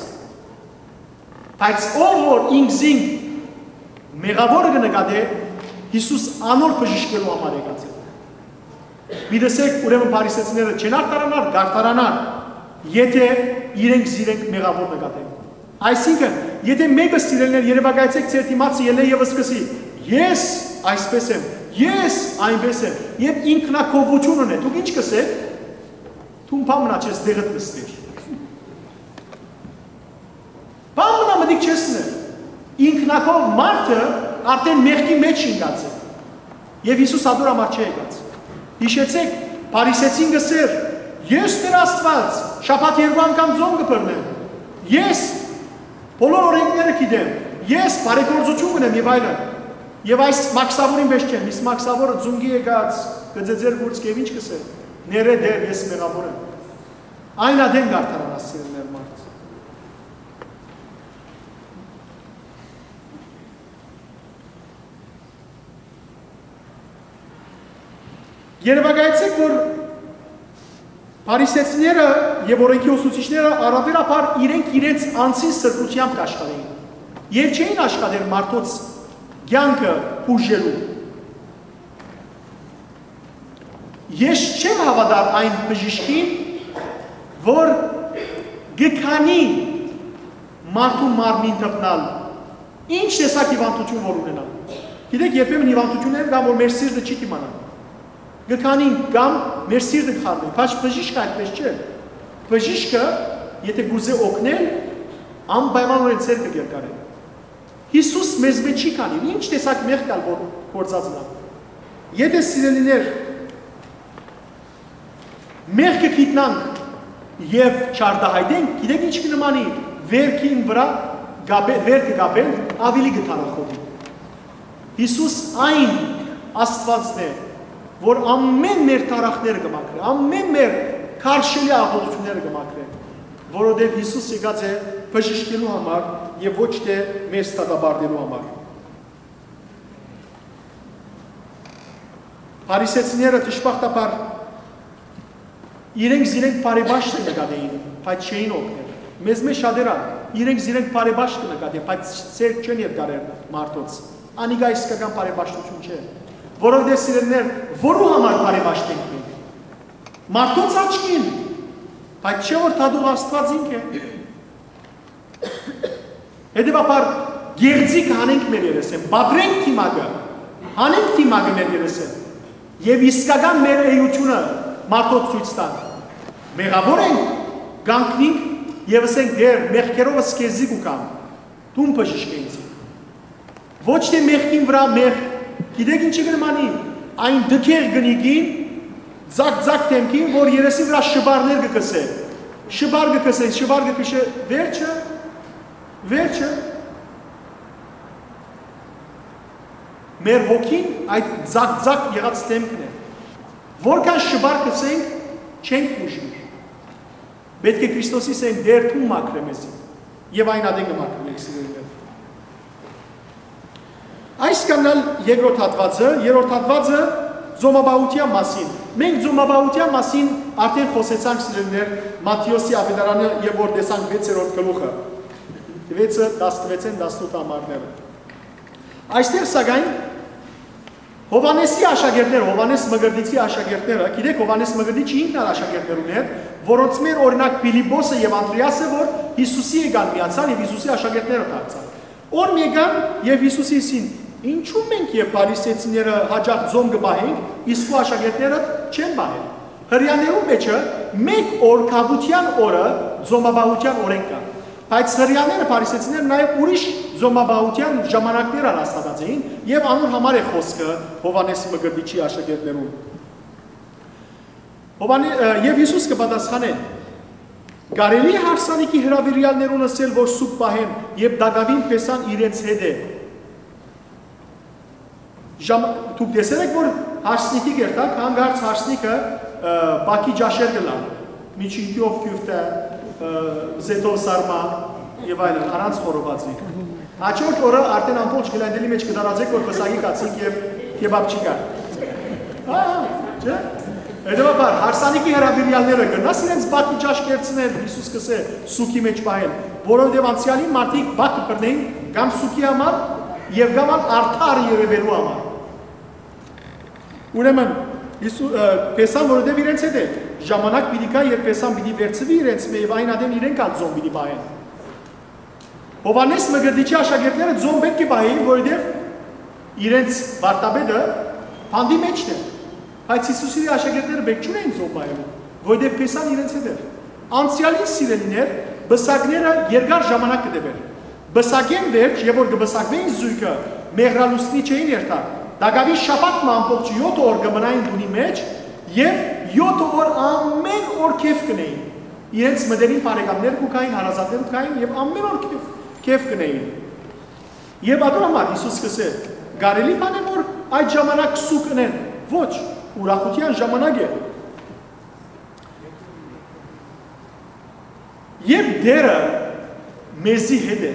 Բայց ով որ ինքզինք մեղաւորը կը նկատէ, Յիսուս անոր բժշկելու համար եկած է։ Մի տեսեք, ուրեմն փարիսեցիները չեն արդարանար, կ'արդարանան, եթէ իրենք զիրենք մեղաւոր նկատեն։ Այսինքն, եթէ մէկը, սիրելիներ, երեւակայեցէք, ձեր դիմացը ելլէ եւ սկսի. «Ես այսպես եմ, ես այնպես եմ», եւ ինքնակովութիւն ունէ, դուք ի՞նչ կ'ըսէք։ Դուն բան մնա չես, տեղդ նստիր։ Բան մնա մտիկ չես ներ։ Ինքնակով մարդը արդեն մեղքի մեջ ինկած է։ Եւ Յիսուս ատոր համար չի եկած։ Յիշեցեք, փարիսեցին կ'ըսէր. «Ես Տեր Աստուած, շաբաթ երկու անգամ ծոմ կը բռնեմ։ Ես բոլոր օրենքները գիտեմ։ Ես բարեգործութիւն կ'ունեմ» եւ այլն։ Եւ այս մաքսաւորին պես չեմ, իսկ մաքսաւորը ձունկի եկած, կը ձեձեր գուրծ եւ ի՞նչ կ'ըսէ. «Ներէ Տէր, ես մեղաւոր եմ»։ Այն ատեն կ'արդարանաս, սիրելիներ, մարդ։ Երեւակայեցեք, որ փարիսեցիները եւ օրենքի ուսուցիչները առաւելաբար իրենք իրենց անձին սրբութեամբ կ'աշխատէին եւ չէին աշխատեր մարդոց կեանքը բուժելու։ Ես չեմ հաւատար այն բժիշկին, որ կը քանի մարդու մարմին դպնալ, ինչ տեսակ հիւանդութիւն որ ունենայ։ Գիտեք, երբեմն հիւանդութիւններ կան, որ մեր սիրտը չի դիմանայ։ Կը քանինք կամ մեր սիրտը կը խառնենք, բայց բժիշկը այդպես չէ։ Բժիշկը, եթե կ'ուզէ օգնել, անպայմանօրէն ձեռքը կ'երկարէ։ Յիսուս մեզմէ չի քանիր, ինչ տեսակ մեղք կալ որ գործած ըլլայ։ Եթե, սիրելիներ, մեղքը գիտնանք եւ չարտահայտենք, գիտեք ինչ կը նմանի, վերքին վրայ կապե-, վերքը կապել, աւելի կը թառախովի։ Յիսուս այն Աստուածն է, որ ամէն մեր թառախները կը մաքրէ, ամէն մեր քարշելի աղօթքները կը մաքրէ, որովհետեւ Յիսուս եկած է բժշկելու համար եւ ոչ թէ մեզ դատապարտելու համար։ Փարիսեցիները, դժբախտաբար, իրենք զիրենք բարեպաշտը նկատեին, բայց չէին օգնել։ Մեզմէ շատեր ալ իրենք զիրենք բարեպաշտը նկատեն, բայց ձեռք չեն երկարեր մարդոց։ Անիկա իսկական բարեպաշտութիւն չէ, որովհետեւ, սիրելիներ, որու համար բարեպաշտ ենք մենք։ Մարդոց աչքին, բայց չէ՞ որ դատող Աստուած ինք է։ Հետեւաբար, գեղձիկ հանենք մեր երեսէն, պատռենք դիմակը, հանենք դիմակը մեր երեսէն եւ իսկական մեր էությունը մարդոց ցոյց տանք։ Մեղաւոր ենք, կանգնինք եւ ըսենք. «Տէր, մեղքերովս քեզի կու գամ, դուն բժշկէ ինձ»։ Ոչ թէ մեղքին վրայ մեղք, գիտեք ինչի՞ կը նմանի, այն տգեղ կնիկին, ձակ-ձակ դէմքին, որ երեսին վրայ շպարներ կը կսէ, շպար կը կսեն, շպար կը կշէ, վերջը, վերջը, մեր հոգին այդ ձակ-ձակ եղած դէմքն է, որքան շպար կսենք, չենք բուժուիր։ Պէտք է Քրիստոսի սեն դեր դու մաքրե մեզի, եւ այն ատեն կը մաքրենք, սիրելիներ։ Այս կ'անալ երկրորդ հատուածը, երրորդ հատուածը ծոմապահութեան մասին։ Մենք ծոմապահութեան մասին արդեն խօսեցանք, սիրելիներ, Մատթէոսի աւետարանը, եւ որ տեսանք վեցերորդ գլուխը, վեցը, տասնվեցէն տասնութ ամառները։ Այստեղ, սակայն, Յովհաննէսի աշակերտները, Յովհաննէս Մկրտիչի աշակերտները, գիտեք, Յովհաննէս Մկրտիչը ինքն ալ աշակերտներ ունէր, որոնց մեր, օրինակ, Փիլիպպոսը եւ Անդրեասը, որ Յիսուսի եկան միացան եւ Յիսուսի աշակերտները դարձան։ Օր մեկան եւ Յիսուսի ըսին. «Ինչու մենք եւ փարիսեցիները յաճախ ծոմ կը պահենք, իսկ քու աշակերտներդ չեն պահեր»։ Հրեաներուն մէջը մէկ օր, քաւութեան օրը, ծոմապահութեան օրէնք կայ։ Բայց հրեաները, փարիսեցիները, նաեւ ուրիշ ծոմապահութեան ժամանակներ ալ հաստատած էին, եւ անոր համար է խօսքը Յովհաննէս Մկրտիչի աշակերտներուն։ Յովհաննէ-, ը, եւ Յիսուս կը պատասխանէ. «Կարելի՞ է հարսանիքի հրաւիրեալներուն ըսել որ սուգ պահեն, երբ տակաւին փեսան իրենց հետ է»։ Ժամ-, դուք տեսեր եք որ հարսանիքի կերտակ, հանկարծ հարսանիքը, ը, բակի ճաշեր կը լան, միջինքիով քիւֆտը, ը, զեթով սարմա եւ այլն, առանց խորովածի։ Հաջորդ օրը արդեն ամբողջ Գլենդելի մէջ կը տարածէք որ պսակի կացինք եւ քեբապ չի կար։ Ահա, չէ՞։ Հետեւաբար, հարսանիքի հրաւիրեալները կրնաս իրենց բակի ճաշ կերցնել, Յիսուս կ'ըսէ, սուգի մէջ պահել, որովհետեւ անցեալին մարդիկ բակ կը բռնէին կամ սուգի համար եւ կամ ալ արդար երեւելու համար։ Ուրեմն, Յիսու-, ը, փեսան որովհետեւ իրենց հետ է, ժամանակ պիտի գայ, երբ փեսան պիտի վերցուի իրենց մէ եւ այն ատեն իրենք ալ ծոմ պիտի պահեն։ Յովհաննէս Մկրտիչի աշակերտները ծոմ պէտք է պահեին, որովհետեւ իրենց վարդապետը բանտի մէջն է, բայց Յիսուսի աշակերտները պէտք չունէին ծոմ պահելու, որովհետեւ փեսան իրենց հետ էր։ Անցեալին, սիրելիներ, պսակները երկար ժամանակ կը տեւէր։ Պսակէն վերջ, եւ որ կը պսակուէին զոյգը, մեղրալուսնի չէին երթար։ Տակաւին շաբաթ մը ամբողջ եօթ օր կը մնային տունի մէջ եւ եօթ օր ամէն օր քեֆ կ'ընէին։ Իրենց մտերիմ բարեկամներ կու գային, հարազատներ կու գային եւ ամէն օր քեֆ, քեֆ կ'ընէին։ Եւ ատոր համար Յիսուս կ'ըսէ. «Կարելի բան է որ այդ ժամանակ սուգ ընեն»։ Ոչ, ուրախութեան ժամանակ է։ Երբ Տէրը մեզի հետ է,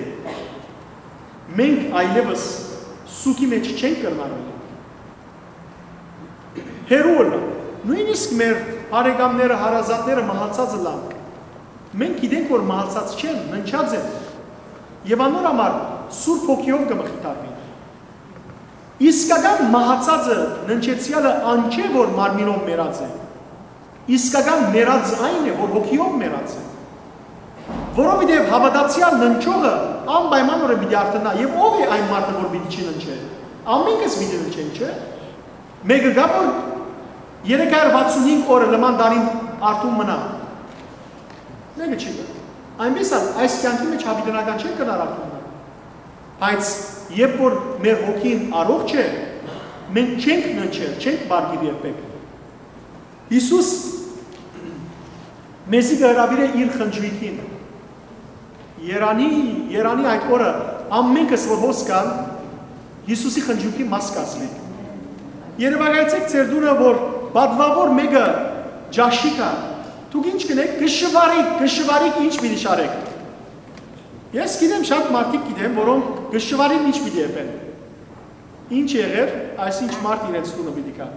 մենք այլեւս սուգի մէջ չենք կրնար մնալ։ Հեռու ըլլալ։ Նոյնիսկ մեր բարեկամները, հարազատները մահացած ըլլան, մենք գիտենք որ մահացած չեն, ննջած են։ Եւ անոր համար Սուրբ Հոգիով կը մխիթարվենք։ Իսկական մահացածը, ննջեցեալը ան չէ որ մարմինով մեռած է։ Իսկական մեռածը այն է որ հոգիով մեռած է։ Որովհետեւ հաւատացեալ ննջողը անպայմանօրէն պիտի արթնայ, եւ ո՞վ է այն մարդը որ պիտի չի ննջէ։ Ամենքս պիտի ննջենք, չէ՞։ Մէկը կա որ Երեք հարյուր վաթսուն հինգ օրը լման տարին արթուն մնայ։ Մեկը չի գա։ Այնպես ալ այս կեանքի մէջ յաւիտենական չենք կրնար արթուն մնալ։ Բայց երբ որ մեր հոգին առողջ է, մենք չենք ննջեր, չենք պառկիր երբեք։ Յիսուս մեզի կը հրաւիրէ իր խնջոյքին։ Երանի, երանի այդ օրը ամենքս որ հոս կան, Յիսուսի խնջոյքի մաս կազմենք։ Երեւակայեցէք ձեր տունը, որ պատուաւոր մէկը ճաշի կայ։ Դուք ինչ կ'ընէք, կը շուարիք, կը շուարիք, ինչ պիտի շարէք։ Ես գիտեմ, շատ մարդիկ գիտեմ, որոնք կը շուարին ինչ պիտի ըրեն։ Ինչ եղեր, այսինչ մարդ իրենց տունը պիտի գայ։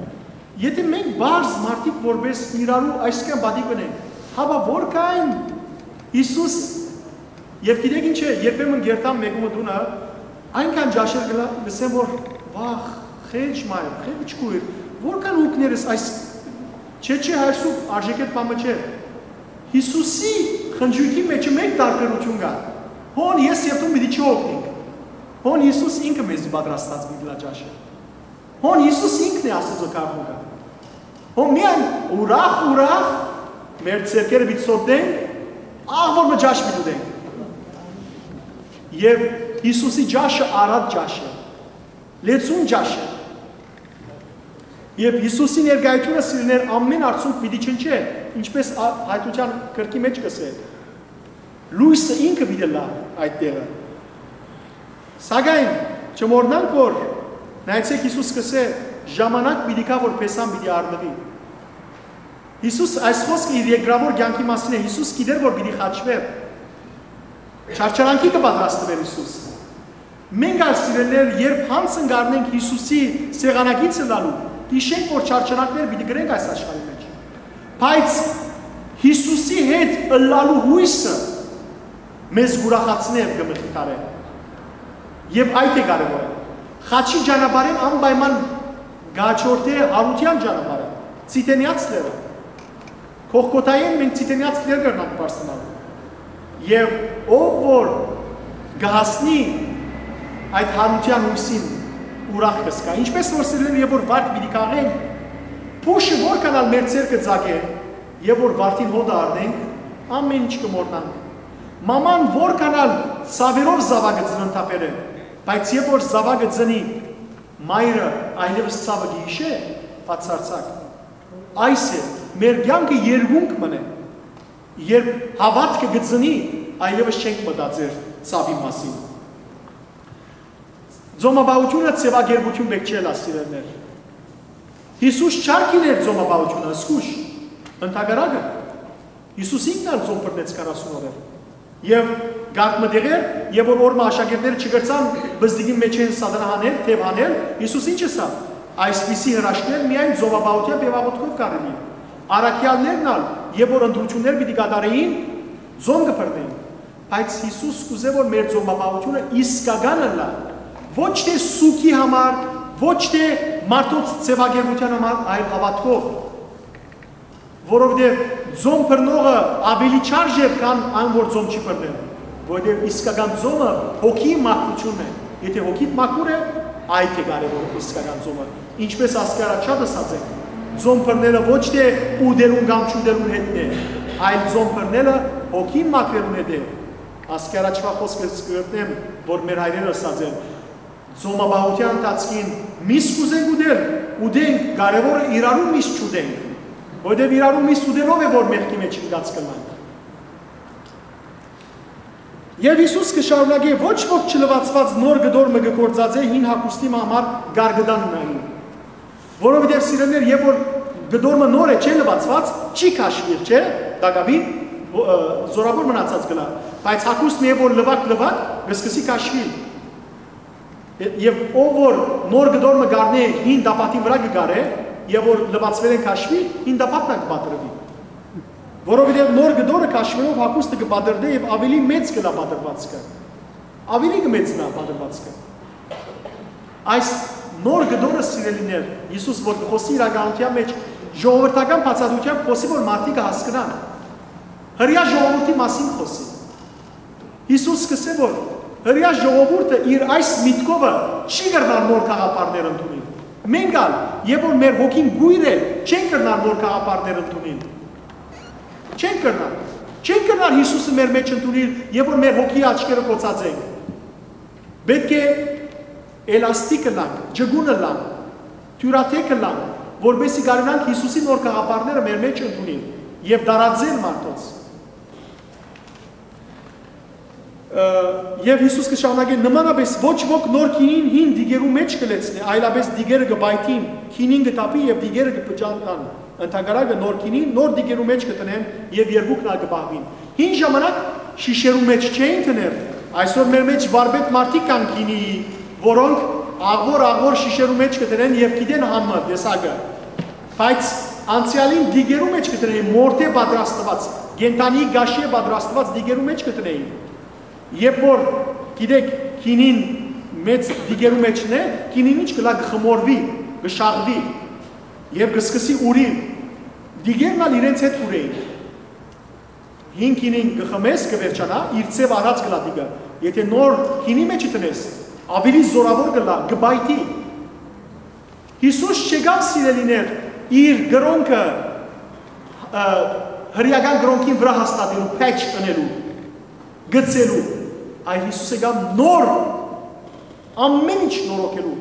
Եթէ մենք բարձ մարդիկ որպես իրարու այսքան պատիվ ունենք, հապա որքան Յիսուս, եւ գիտեք ինչ է, երբեմն գերտամ մեկումը տունը, այնքան ճաշեր գլա-, գսեմ, որ վախ, խեջ մայր, խեջ քույր, որքան ուկներս այս, չէ, չէ, այսու արժեքետ բամը չէ։ Յիսուսի խնջոյքի մեջ մեկ տարբերություն կա։ Հոն ես եւ դու պիտի չօգնենք։ Հոն Յիսուս ինքը մեզի պատրաստած պիտի լա ճաշը։ Հոն Յիսուս ինքն է Աստուծոյ գաղտնիքը։ Հոն միայն ուրախ, ուրախ մեր ձեռքերը պիտի սոտենք, աղ որ մը ճաշ պիտի ուտենք։ Եւ Յիսուսի ճաշը առատ ճաշ է, լեցուն ճաշ է։ Եւ Յիսուսի ներկայությունը սիրներ ամեն արդյունք պիտի չնչէ, ինչպես ա-, հայտության կրկի մեջ կսէ։ Լույսը ինքը պիտի լա այդ տեղը։ Սակայն չմոռնանք, որ նայեցեք, Յիսուս կսէ, ժամանակ պիտի գա, որ փեսան պիտի առնուի։ Յիսուս այս խոսքը իր երկրավոր կեանքի մասին է, Յիսուս գիտեր, որ պիտի խաչվեր։ Չարչարանքի կը պատրաստվեր Յիսուս։ Մենք ալ սիրելիներ, երբ յանձն կ'առնենք Յիսուսի սեղանագիծը լալու, յիշենք, որ չարչարանքներ պիտի կրենք այս աշխարհի մեջ։ Բայց Յիսուսի հետ ըլլալու հույսը մեզ կ'ուրախացնէ եւ կը մխիթարէ։ Եւ այդ է կարեւորը։ Խաչի ճանապարհին անպայման կ'աջորդէ հարութեան ճանապարհը, Ծիթենեաց լեռը։ Կողքոթայէն մենք Ծիթենեաց լեռ կրնանք բարձրանալ։ Եւ ով որ կը հասնի այդ հարութեան հույսին, ուրախ կը զգայ։ Ինչպես որ սիրել եւ որ վարդ պիտի քաղենք, փուշը որքան ալ մեր ձեռքը ծակէ, եւ որ վարդին հոտը առնենք, ամեն ինչ կը մոռնանք։ Մաման որքան ալ ցաւերով զաւակը ծննդաբեր է, բայց երբ որ զաւակը ծնի, մայրը այլեւս ցաւը կը յիշէ, բացարձակ։ Այս է, մեր կեանքը երկունք մըն է, երբ հաւատքը կը ծնի, այլեւս չենք մտածեր ցաւի մասին։ Ծոմապահությունը ձեւակերպություն պէտք չէ ըլլայ, սիրելիներ։ Յիսուս չ'արգիլեր ծոմապահությունը, զգուշ, ընդհակառակը, Յիսուս ինքն ալ ծոմ բռնեց քառասուն օրեր։ Եւ կարգ մը տեղեր, եւ որ օրը աշակերտները չկրցան բզդիկին մեջ են սատանա հանել, թեւ հանել, Յիսուս ինչ ըսաւ։ Այսպիսի հրաշքներ միայն ծոմապահութեան եւ աղօթքով կարելի է։ Առաքեալներն ալ, երբ որ ընտրություններ պիտի կատարեին, ծոմ կը բռնեին։ Բայց Յիսուս կ'ուզէ, որ մեր ծոմապահությունը իսկական ըլլայ, ոչ թէ սուգի համար, ոչ թէ մարդոց ձեւակերպութեան համար, այլ հաւատքով, որովհետեւ ծոմ բռնողը աւելի չարժեր, քան այն, որ ծոմ չի բռնել, որովհետեւ իսկական ծոմը հոգիի մաքրությունն է, եթէ հոգիդ մաքուր է, այդ է կարեւոր իսկական ծոմը, ինչպես ասկի առաջ շատ ըսած ենք, ծոմ բռնելը ոչ թէ ուտելուն կամ չուտելուն հետն է, այլ ծոմ բռնելը հոգին մաքրելուն հետ է։ Ասկի առաջվա խոսքը կ'գտնեմ, որ մեր հայրերը ըսած են, ծոմապահութեան ընթացքին միս կ'ուզենք ուտել, ուտենք, կարեւորը իրարու միս չուտենք, որովհետեւ իրարու միս ուտելով է, որ մեղքի մեջ ինկած կ'ըլլանք։ Եւ Յիսուս կը շարունակէ. «Ոչ ոք չլուացուած նոր կտոր մը կը գործածէ հին հագուստի մը համար կարկտան նային»։ Որովհետեւ, սիրելիներ, երբ որ կտոր մը նոր է, չէ լուացուած, չի քաշուիր, չէ, տակաւին, ո-, ը, զորավոր մնացած կ'ըլլայ, բայց հագուստը, երբ որ լուակ, լուակ, կը սկսի քաշուիլ։ Եւ ով որ նոր կտոր մը կ'առնէ, հին տապատին վրայ կը կարէ, եւ որ լուացուելէն քաշուի, հին տապատն ալ կը պատռուի։ Որովհետեւ նոր կտորը քաշուելով հագուստը կը պատռնէ եւ աւելի մեծ կ'ըլլայ պատռուածքը։ Աւելի կը մեծնայ պատռուածքը։ Այս նոր կտորը, սիրելիներ, Յիսուս որ կը խօսի իրականութեան մեջ, ժողովրդական բացատրութեամբ խօսի, որ մարդիկը հասկնան։ Հրեայ ժողովուրդի մասին խօսի։ Յիսուս կ'ըսէ, որ հրեայ ժողովուրդը իր այս միտքովը չի կրնար նոր գաղափարներ ընդունի։ Մենք ալ, երբ որ մեր հոգին կոյր է, չենք կրնար նոր գաղափարներ ընդունիլ։ Չենք կրնար։ Չենք կրնար Յիսուսը մեր մեջ ընդունիլ, երբ որ մեր հոգի աչքերը կոծած ենք։ Պետք է էլաստիկ ըլլանք, ջկուն ըլլանք, թիւրաթեք ըլլանք, որպեսզի կարենանք Յիսուսի նոր գաղափարները մեր մեջ ընդունիլ եւ տարածել մարդոց։ Ը, եւ Յիսուս կը շարունակէ. «Նմանապէս ոչ ոք նոր գինին հին դիգերու մէջ կը լեցնէ, այլապէս դիգերը կը պայթին, գինին կը թափի եւ դիգերը կը փճանան։ Ընդհակառակը նոր գինին նոր դիգերու մէջ կը դնեն եւ երկուքն ալ կը պահուին»։ Հին ժամանակ շիշերու մէջ չէին դներ, այսօր մեր մէջ վարպետ մարդիկ կան գինիի, որոնք աղոր-աղոր շիշերու մէջ կը դնեն եւ գիտեն համը, տեսակը։ Բայց անցեալին դիգերու մէջ կը դնէին, մորթէ պատրաստուած, կենդանի կաշիէ պատրաստուած դիգերու մէջ կը դնէին։ Երբ որ, գիտեք, գինին մեծ դիգերու մէջն է, գինին ինչ կլա, կը խմորուի, կը շաղուի եւ կը սկսի ուռիլ։ Դիգերն ալ իրենց հետ կ'ուռէին։ Հին գինին կը խմես, կը վերջանայ, իր ձեւ առած կլա դիգը։ Եթէ նոր գինի մէջ դնես, աւելի զօրաւոր կլա, կը պայթի։ Յիսուս չեկաւ, սիրելիներ, իր կրօնքը, ը, հրեական կրօնքին վրայ հաստատելու, patch ընելու, գցելու, այլ Յիսուս եկաւ նոր, ամէն ինչ նորոգելու։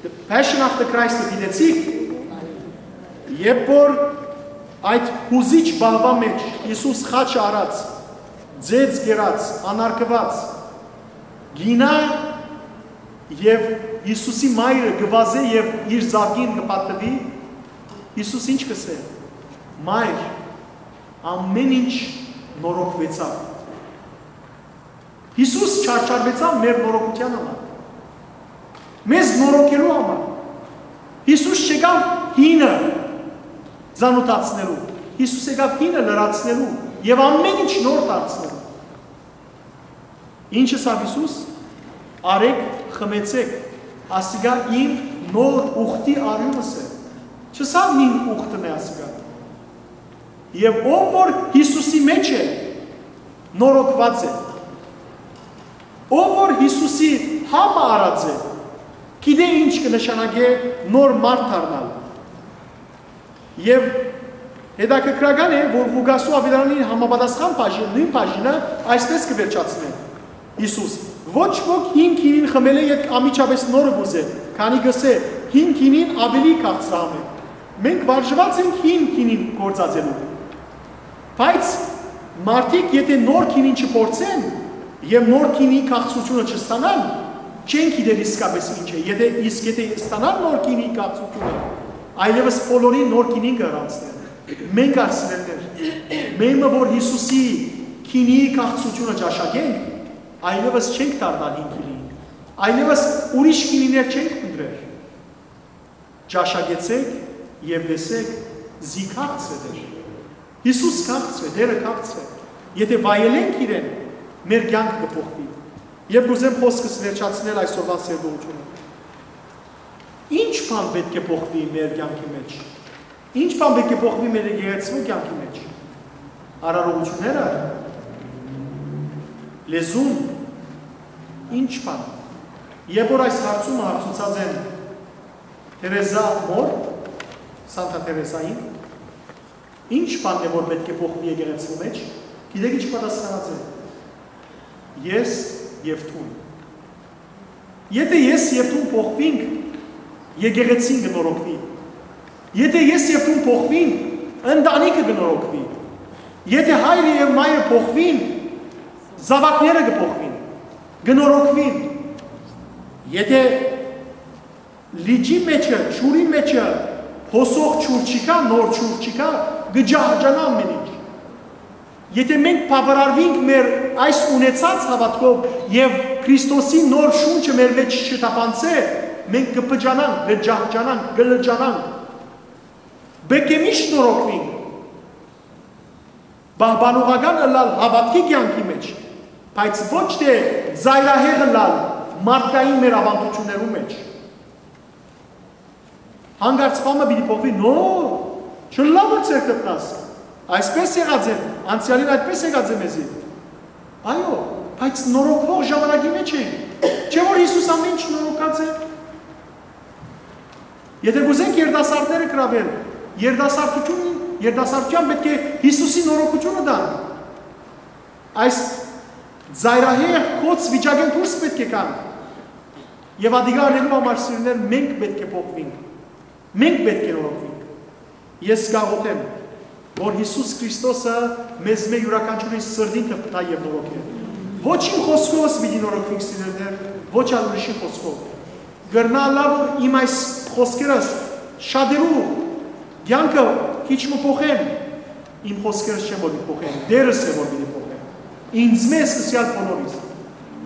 The Passion of the Christ-ը դիտեցիք, երբ որ այդ հուզիչ պահուան մէջ Յիսուս խաչը առած, ձեծ կերած, անարգուած, կ'իյնայ եւ Յիսուսի մայրը կը վազէ եւ իր զաւկին կը պատուի, Յիսուս ինչ կ'ըսէ. «Մայր, ամէն ինչ նորոգուեցաւ»։ Յիսուս չարչարուեցաւ մեր նորոգութեան համար, մեզ նորոգելու համար։ Յիսուս չեկաւ հինը ծանոթացնելու, Յիսուս եկաւ հինը լրացնելու եւ ամէն ինչ նոր դարձնելու։ Ինչ ըսաւ Յիսուս. «Արեք, խմեցեք, ասիկա իմ նոր ուխտի արիւնս է»։ Չըսաւ. «Մին ուխտն է ասիկա»։ Եւ ով որ Յիսուսի մէջ է, նորոգուած է։ Ով որ Յիսուսի համը առած է, գիտէ ինչ կը նշանակէ նոր մարդ դառնալ։ Եւ հետաքրքրական է, որ Ղուկասու աւետարանին համապատասխան բաժին, նոյն բաժինը այսպես կը վերջացնէ. Յիսուս. «Ոչ ոք հին գինին խմելէ ետք անմիջապէս նորը կ'ուզէ, քանի կ'ըսէ. "Հին գինին աւելի քաղցրահամ է"։ Մենք վարժուած ենք հին գինին գործածելու»։ Բայց մարդիկ, եթէ նոր գինին չփորձեն եւ նոր գինի քաղցրութիւնը չստանան, չեն գիտեր իսկապէս ինչ է։ Եթէ, իսկ եթէ ստանան նոր գինի քաղցրութիւնը, այլեւս բոլորին նոր գինին կ'արանցնեն։ Մենք, սիրելիներ, մեմը որ Յիսուսի գինի քաղցրութիւնը ճաշակենք, այլեւս չենք դառնալ հին գինի, այլեւս ուրիշ գինիներ չենք փնտռեր։ Ճաշակեցէք եւ տեսէք, զի քաղցր է Տեր։ Յիսուս քաղցր է, Տերը քաղցր է։ Եթէ վայելենք իրեն, մեր կյանքը կը փոխուի։ Եւ կ'ուզեմ խօսքս վերջացնել այսօրվան սերտողութիւնը։ Ինչ բան պէտք է փոխուի մեր կյանքի մէջ։ Ինչ բան պէտք է փոխուի մեր եկեղեցու կյանքի մէջ։ Արարողությունները, լեզուն, ինչ բան։ Երբ որ այս հարցումը հարցուցած են Թերեզա մոր, Սանտա Թերեզային, ինչ բանն է որ պէտք է փոխուի եկեղեցու մէջ, գիտեք ինչ պատասխանած է։ Ես եւ դուն։ Եթէ ես եւ դուն փոխուինք, եկեղեցին կը նորոգուի։ Եթէ ես եւ դուն փոխուինք, ընտանիքը կը նորոգուի։ Եթէ հայրը եւ մայրը փոխուին, զաւակները կը փոխուին, կը նորոգուին։ Եթէ լիճի մէջը, ջուրի մէջը հոսող ջուր չկա, նոր ջուր չկա, կը ջահջանայ ամէն ինչ։ Եթէ մենք բաւարարուինք մեր այս ունեցած հաւատքով եւ Քրիստոսի նոր շունչը մեր մէջ չթափանցէ, մենք կը փճանանք, կը ջահջանանք, կը լճանանք։ Պէտք է միշտ նորոգուինք, պահպանողական ըլլալ հաւատքի կեանքի մէջ, բայց ոչ թէ ծայրահեղ ըլլալ մարդկային մեր աւանդութիւններու մէջ։ Հանկարծ բանը պիտի փոխուի, նո, չըլլայ որ ձեռք գտնաս։ Այսպես եղած է, անցեալին այդպես եղած է մեզի։ Այո, բայց նորոգվող ժամանակի մէջ ենք։ Չէ՞ որ Յիսուս ամեն ինչ նորոգած է։ Եթէ կ'ուզենք երիտասարդները գրաւել, երիտասարդություն, երիտասարդութեան պէտք է Յիսուսի նորոգութիւնը տանք։ Այս ծայրահեղ կոց վիճակէն դուրս պէտք է գանք։ Եւ ատիկա անելու համար, սիրելիներ, մենք պէտք է փոխուինք։ Մենք պէտք է նորոգուինք։ Ես կաղոթեմ, որ Յիսուս Քրիստոսը մեզմէ յուրաքանչիւրին սրտին կը փնայ եւ նորոգէ։ Ոչ իմ խօսքովս պիտի նորոգուինք, սիրելիներ, ոչ ալ ուրիշի խօսքով։ Կրնայ ըլլայ, որ իմ այս խօսքերս շատերու կեանքը քիչ մը փոխեն, իմ խօսքերս չեն որ պիտի փոխեն, Տէրս է որ պիտի փոխեն։ Ինձմէ սկսեալ բոլորիս։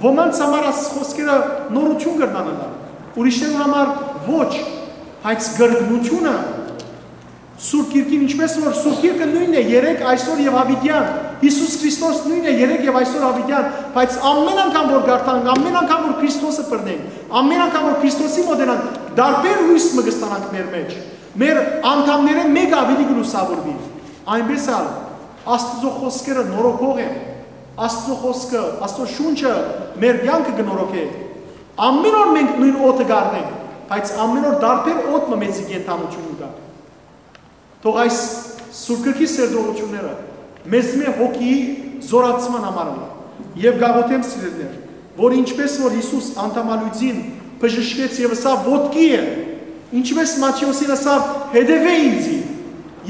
Ոմանց համար այս խօսքերը նորություն կրնան ըլլալ, ուրիշներուն համար ոչ, բայց կրկնությունը Սուրբ Գիրքին, ինչպես որ Սուրբ Գիրքը նոյնն է երեկ, այսօր եւ յաւիտեան, Յիսուս Քրիստոս նոյնն է երեկ եւ այսօր յաւիտեան, բայց ամեն անգամ որ կարդանք, ամեն անգամ որ Քրիստոսը բռնենք, ամեն անգամ որ Քրիստոսի մոտենանք, տարբեր լոյս մը կստանանք մեր մեջ։ Մեր անդամներէն մէկը աւելի կը լուսաւորուի։ Այնպէս ալ Աստուծոյ խօսքերը նորոգող են։ Աստուծոյ խօսքը, Աստուծոյ շունչը մեր կեանքը կը նորոգէ։ Ամեն օր մենք նոյն օդը կ'առնենք, բայց ամեն օր տարբեր օդ մը մեզի կենդանութիւն կու տայ։ Թող այս Սուրբ Գրքի սերտողութիւնները մեզմէ հոգիի զօրացման համար ըլլայ։ Եւ կաղոթեմ, սիրելիներ, որ ինչպես որ Յիսուս անդամալոյծին բժշկեց եւ ըսաւ. «Ոտքի է», ինչպես Մատթէոսին ըսաւ. «Հետեւէ ինծի»,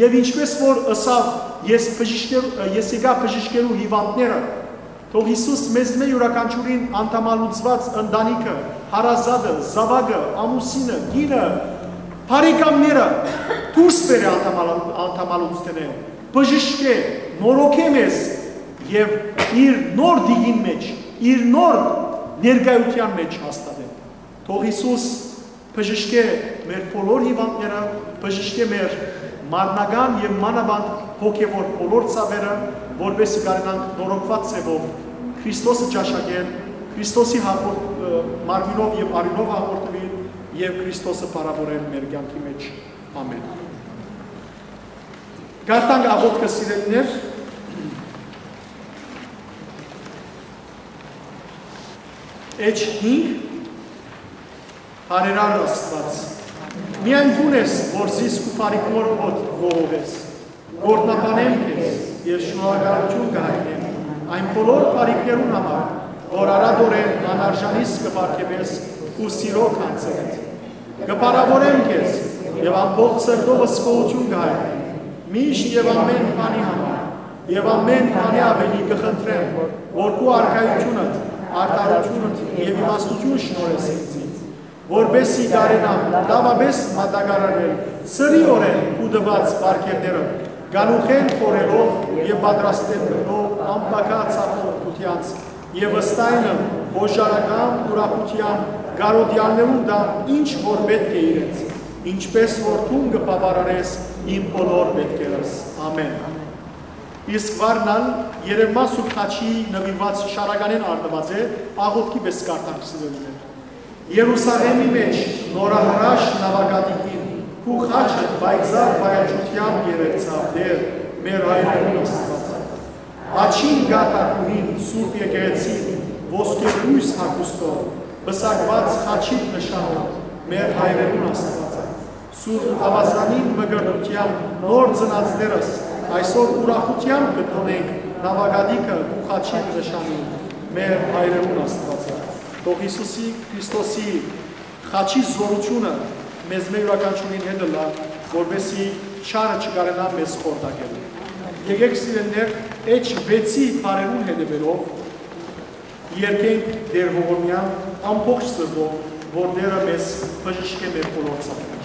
եւ ինչպես որ ըսաւ. «Ես բժիշկեր-, ես եկայ բժիշկելու հիւանդները», թող Յիսուս մեզմէ յուրաքանչիւրին անդամալուծուած ընտանիքը, հարազատը, զաւակը, ամուսինը, կինը, բարեկամները դուրս բերէ անդամալու-, անդամալուծութենէ, բժշկէ, նորոգէ մեզ եւ իր նոր դիգին մէջ, իր նոր ներկայութեան մէջ հաստատէ։ Թող Յիսուս բժշկէ մեր բոլոր հիւանդները, բժշկէ մեր մարմնական եւ մանաւանդ հոգեւոր բոլոր ցաւերը, որպէս զի կարենանք նորոգուած ձեւով Քրիստոսը ճաշակել, Քրիստոսի հաղորդ-, ը, մարմինով եւ արիւնով հաղորդուիլ եւ Քրիստոսը փառաւորել մեր կեանքի մէջ։ Ամէն։ Կարդանք աղօթքը, սիրելիներ։ Էջ հինգ. Բարերար Աստուած, միայն դուն ես, որ զիս քու բարիքներով հոտ գողովես։ Գորտնաբանեմ քեզ եւ շնորհակալութիւն կը հայտնեմ այն բոլոր բարիքներուն համար, որ արատորեն անարժանիս կը պարգեւես քու սիրո գանձերէդ։ Կը փառաւորեմ քեզ եւ ամբողջ սրտովս գոհութիւն կը հայտնեմ միշտ եւ ամէն բանի համար, եւ ամէն բանի աւելի կը խնդրեմ, որ քու արքայութիւնդ, արդարութիւնդ եւ իմաստութիւն շնորհես ինծի, որպէս զի կարենամ լաւապէս մատակարարել սրիօրէն քու տուած պարգեւները, գալուխէն խորհելով եւ պատրաստելով անպակաս աղոթքութեանց եւ վստահ եմ օժարական ուրախութեան կարօտեալներուն տամ ինչ որ պէտք է իրենց, ինչպես որ դուն կը բաւարարես իմ բոլոր մէտքերս։ Ամէն։ Իսկ վարն ալ երեւմա Սուրբ Խաչի նուիրուած շարականէն առնուած է, աղօթքի պէս կարդանք, սիրելիներ։ Երուսաղէմի մէջ նորահրաշ նաւակատիկին քու խաչը պայծառ վայելչութեամբ երեւցաւ, Տէր, մեր հայրերուն Աստուածը։ Աջին կաթ ակունին, Սուրբ Եկեղեցին, ոսկէ բոյս հագուստով, պսակուած խաչին նշանով, մեր հայրերուն Աստուածը։ Սուրբ Աւազանին մկրտութեան նոր ծնածներս այսօր ուրախութեամբ կը տոնենք նաւակատիկը քու խաչին նշանին, մեր հայրերուն Աստուածը։ Թող Յիսուսի Քրիստոսի խաչի զօրութիւնը մեզմէ յուրաքանչիւրին հետ ըլլայ, որպէս զի չարը չկարենայ մեզ խորտակել։ Եկէք, սիրելիներ, էջ վեցի բառերուն հետեւելով, երկենք Տէր ողորմեան ամբողջ սրտով, որ Տէրը մեզ բժշկէ մեր բոլոր ցաւերէն։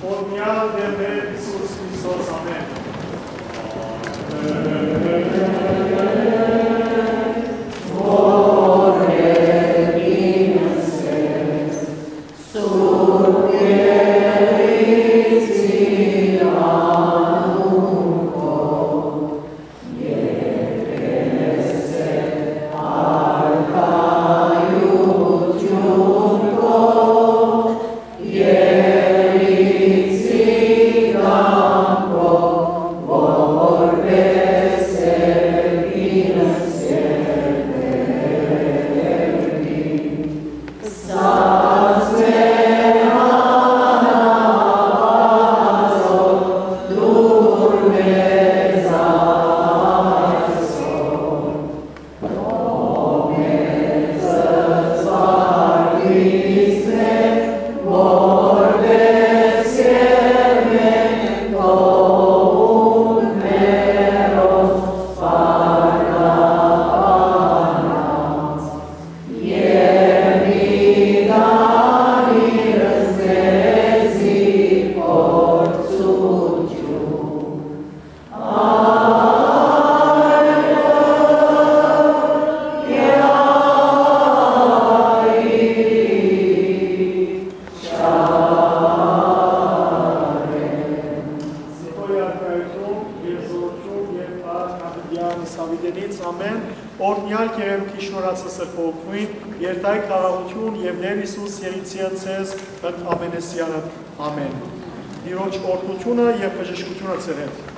Օրհնեալ Տէր մեր Յիսուս Քրիստոս, ամէն։ Սիրտոյ արքայութիւն, գերզօրութիւն եւ արքայութեան Սաւիտենից, ամէն, օրհնեալ կ'երեմ քիչ շնորհացը սրբոյ օգնուին, երթայք խաղաղութիւն եւ Տէր Յիսուս եղիցիա ձեզ ընդ ամենեսեանդ, ամէն։ Տիրոջ օրհնութիւնը եւ բժշկութիւնը ձեզի հետ։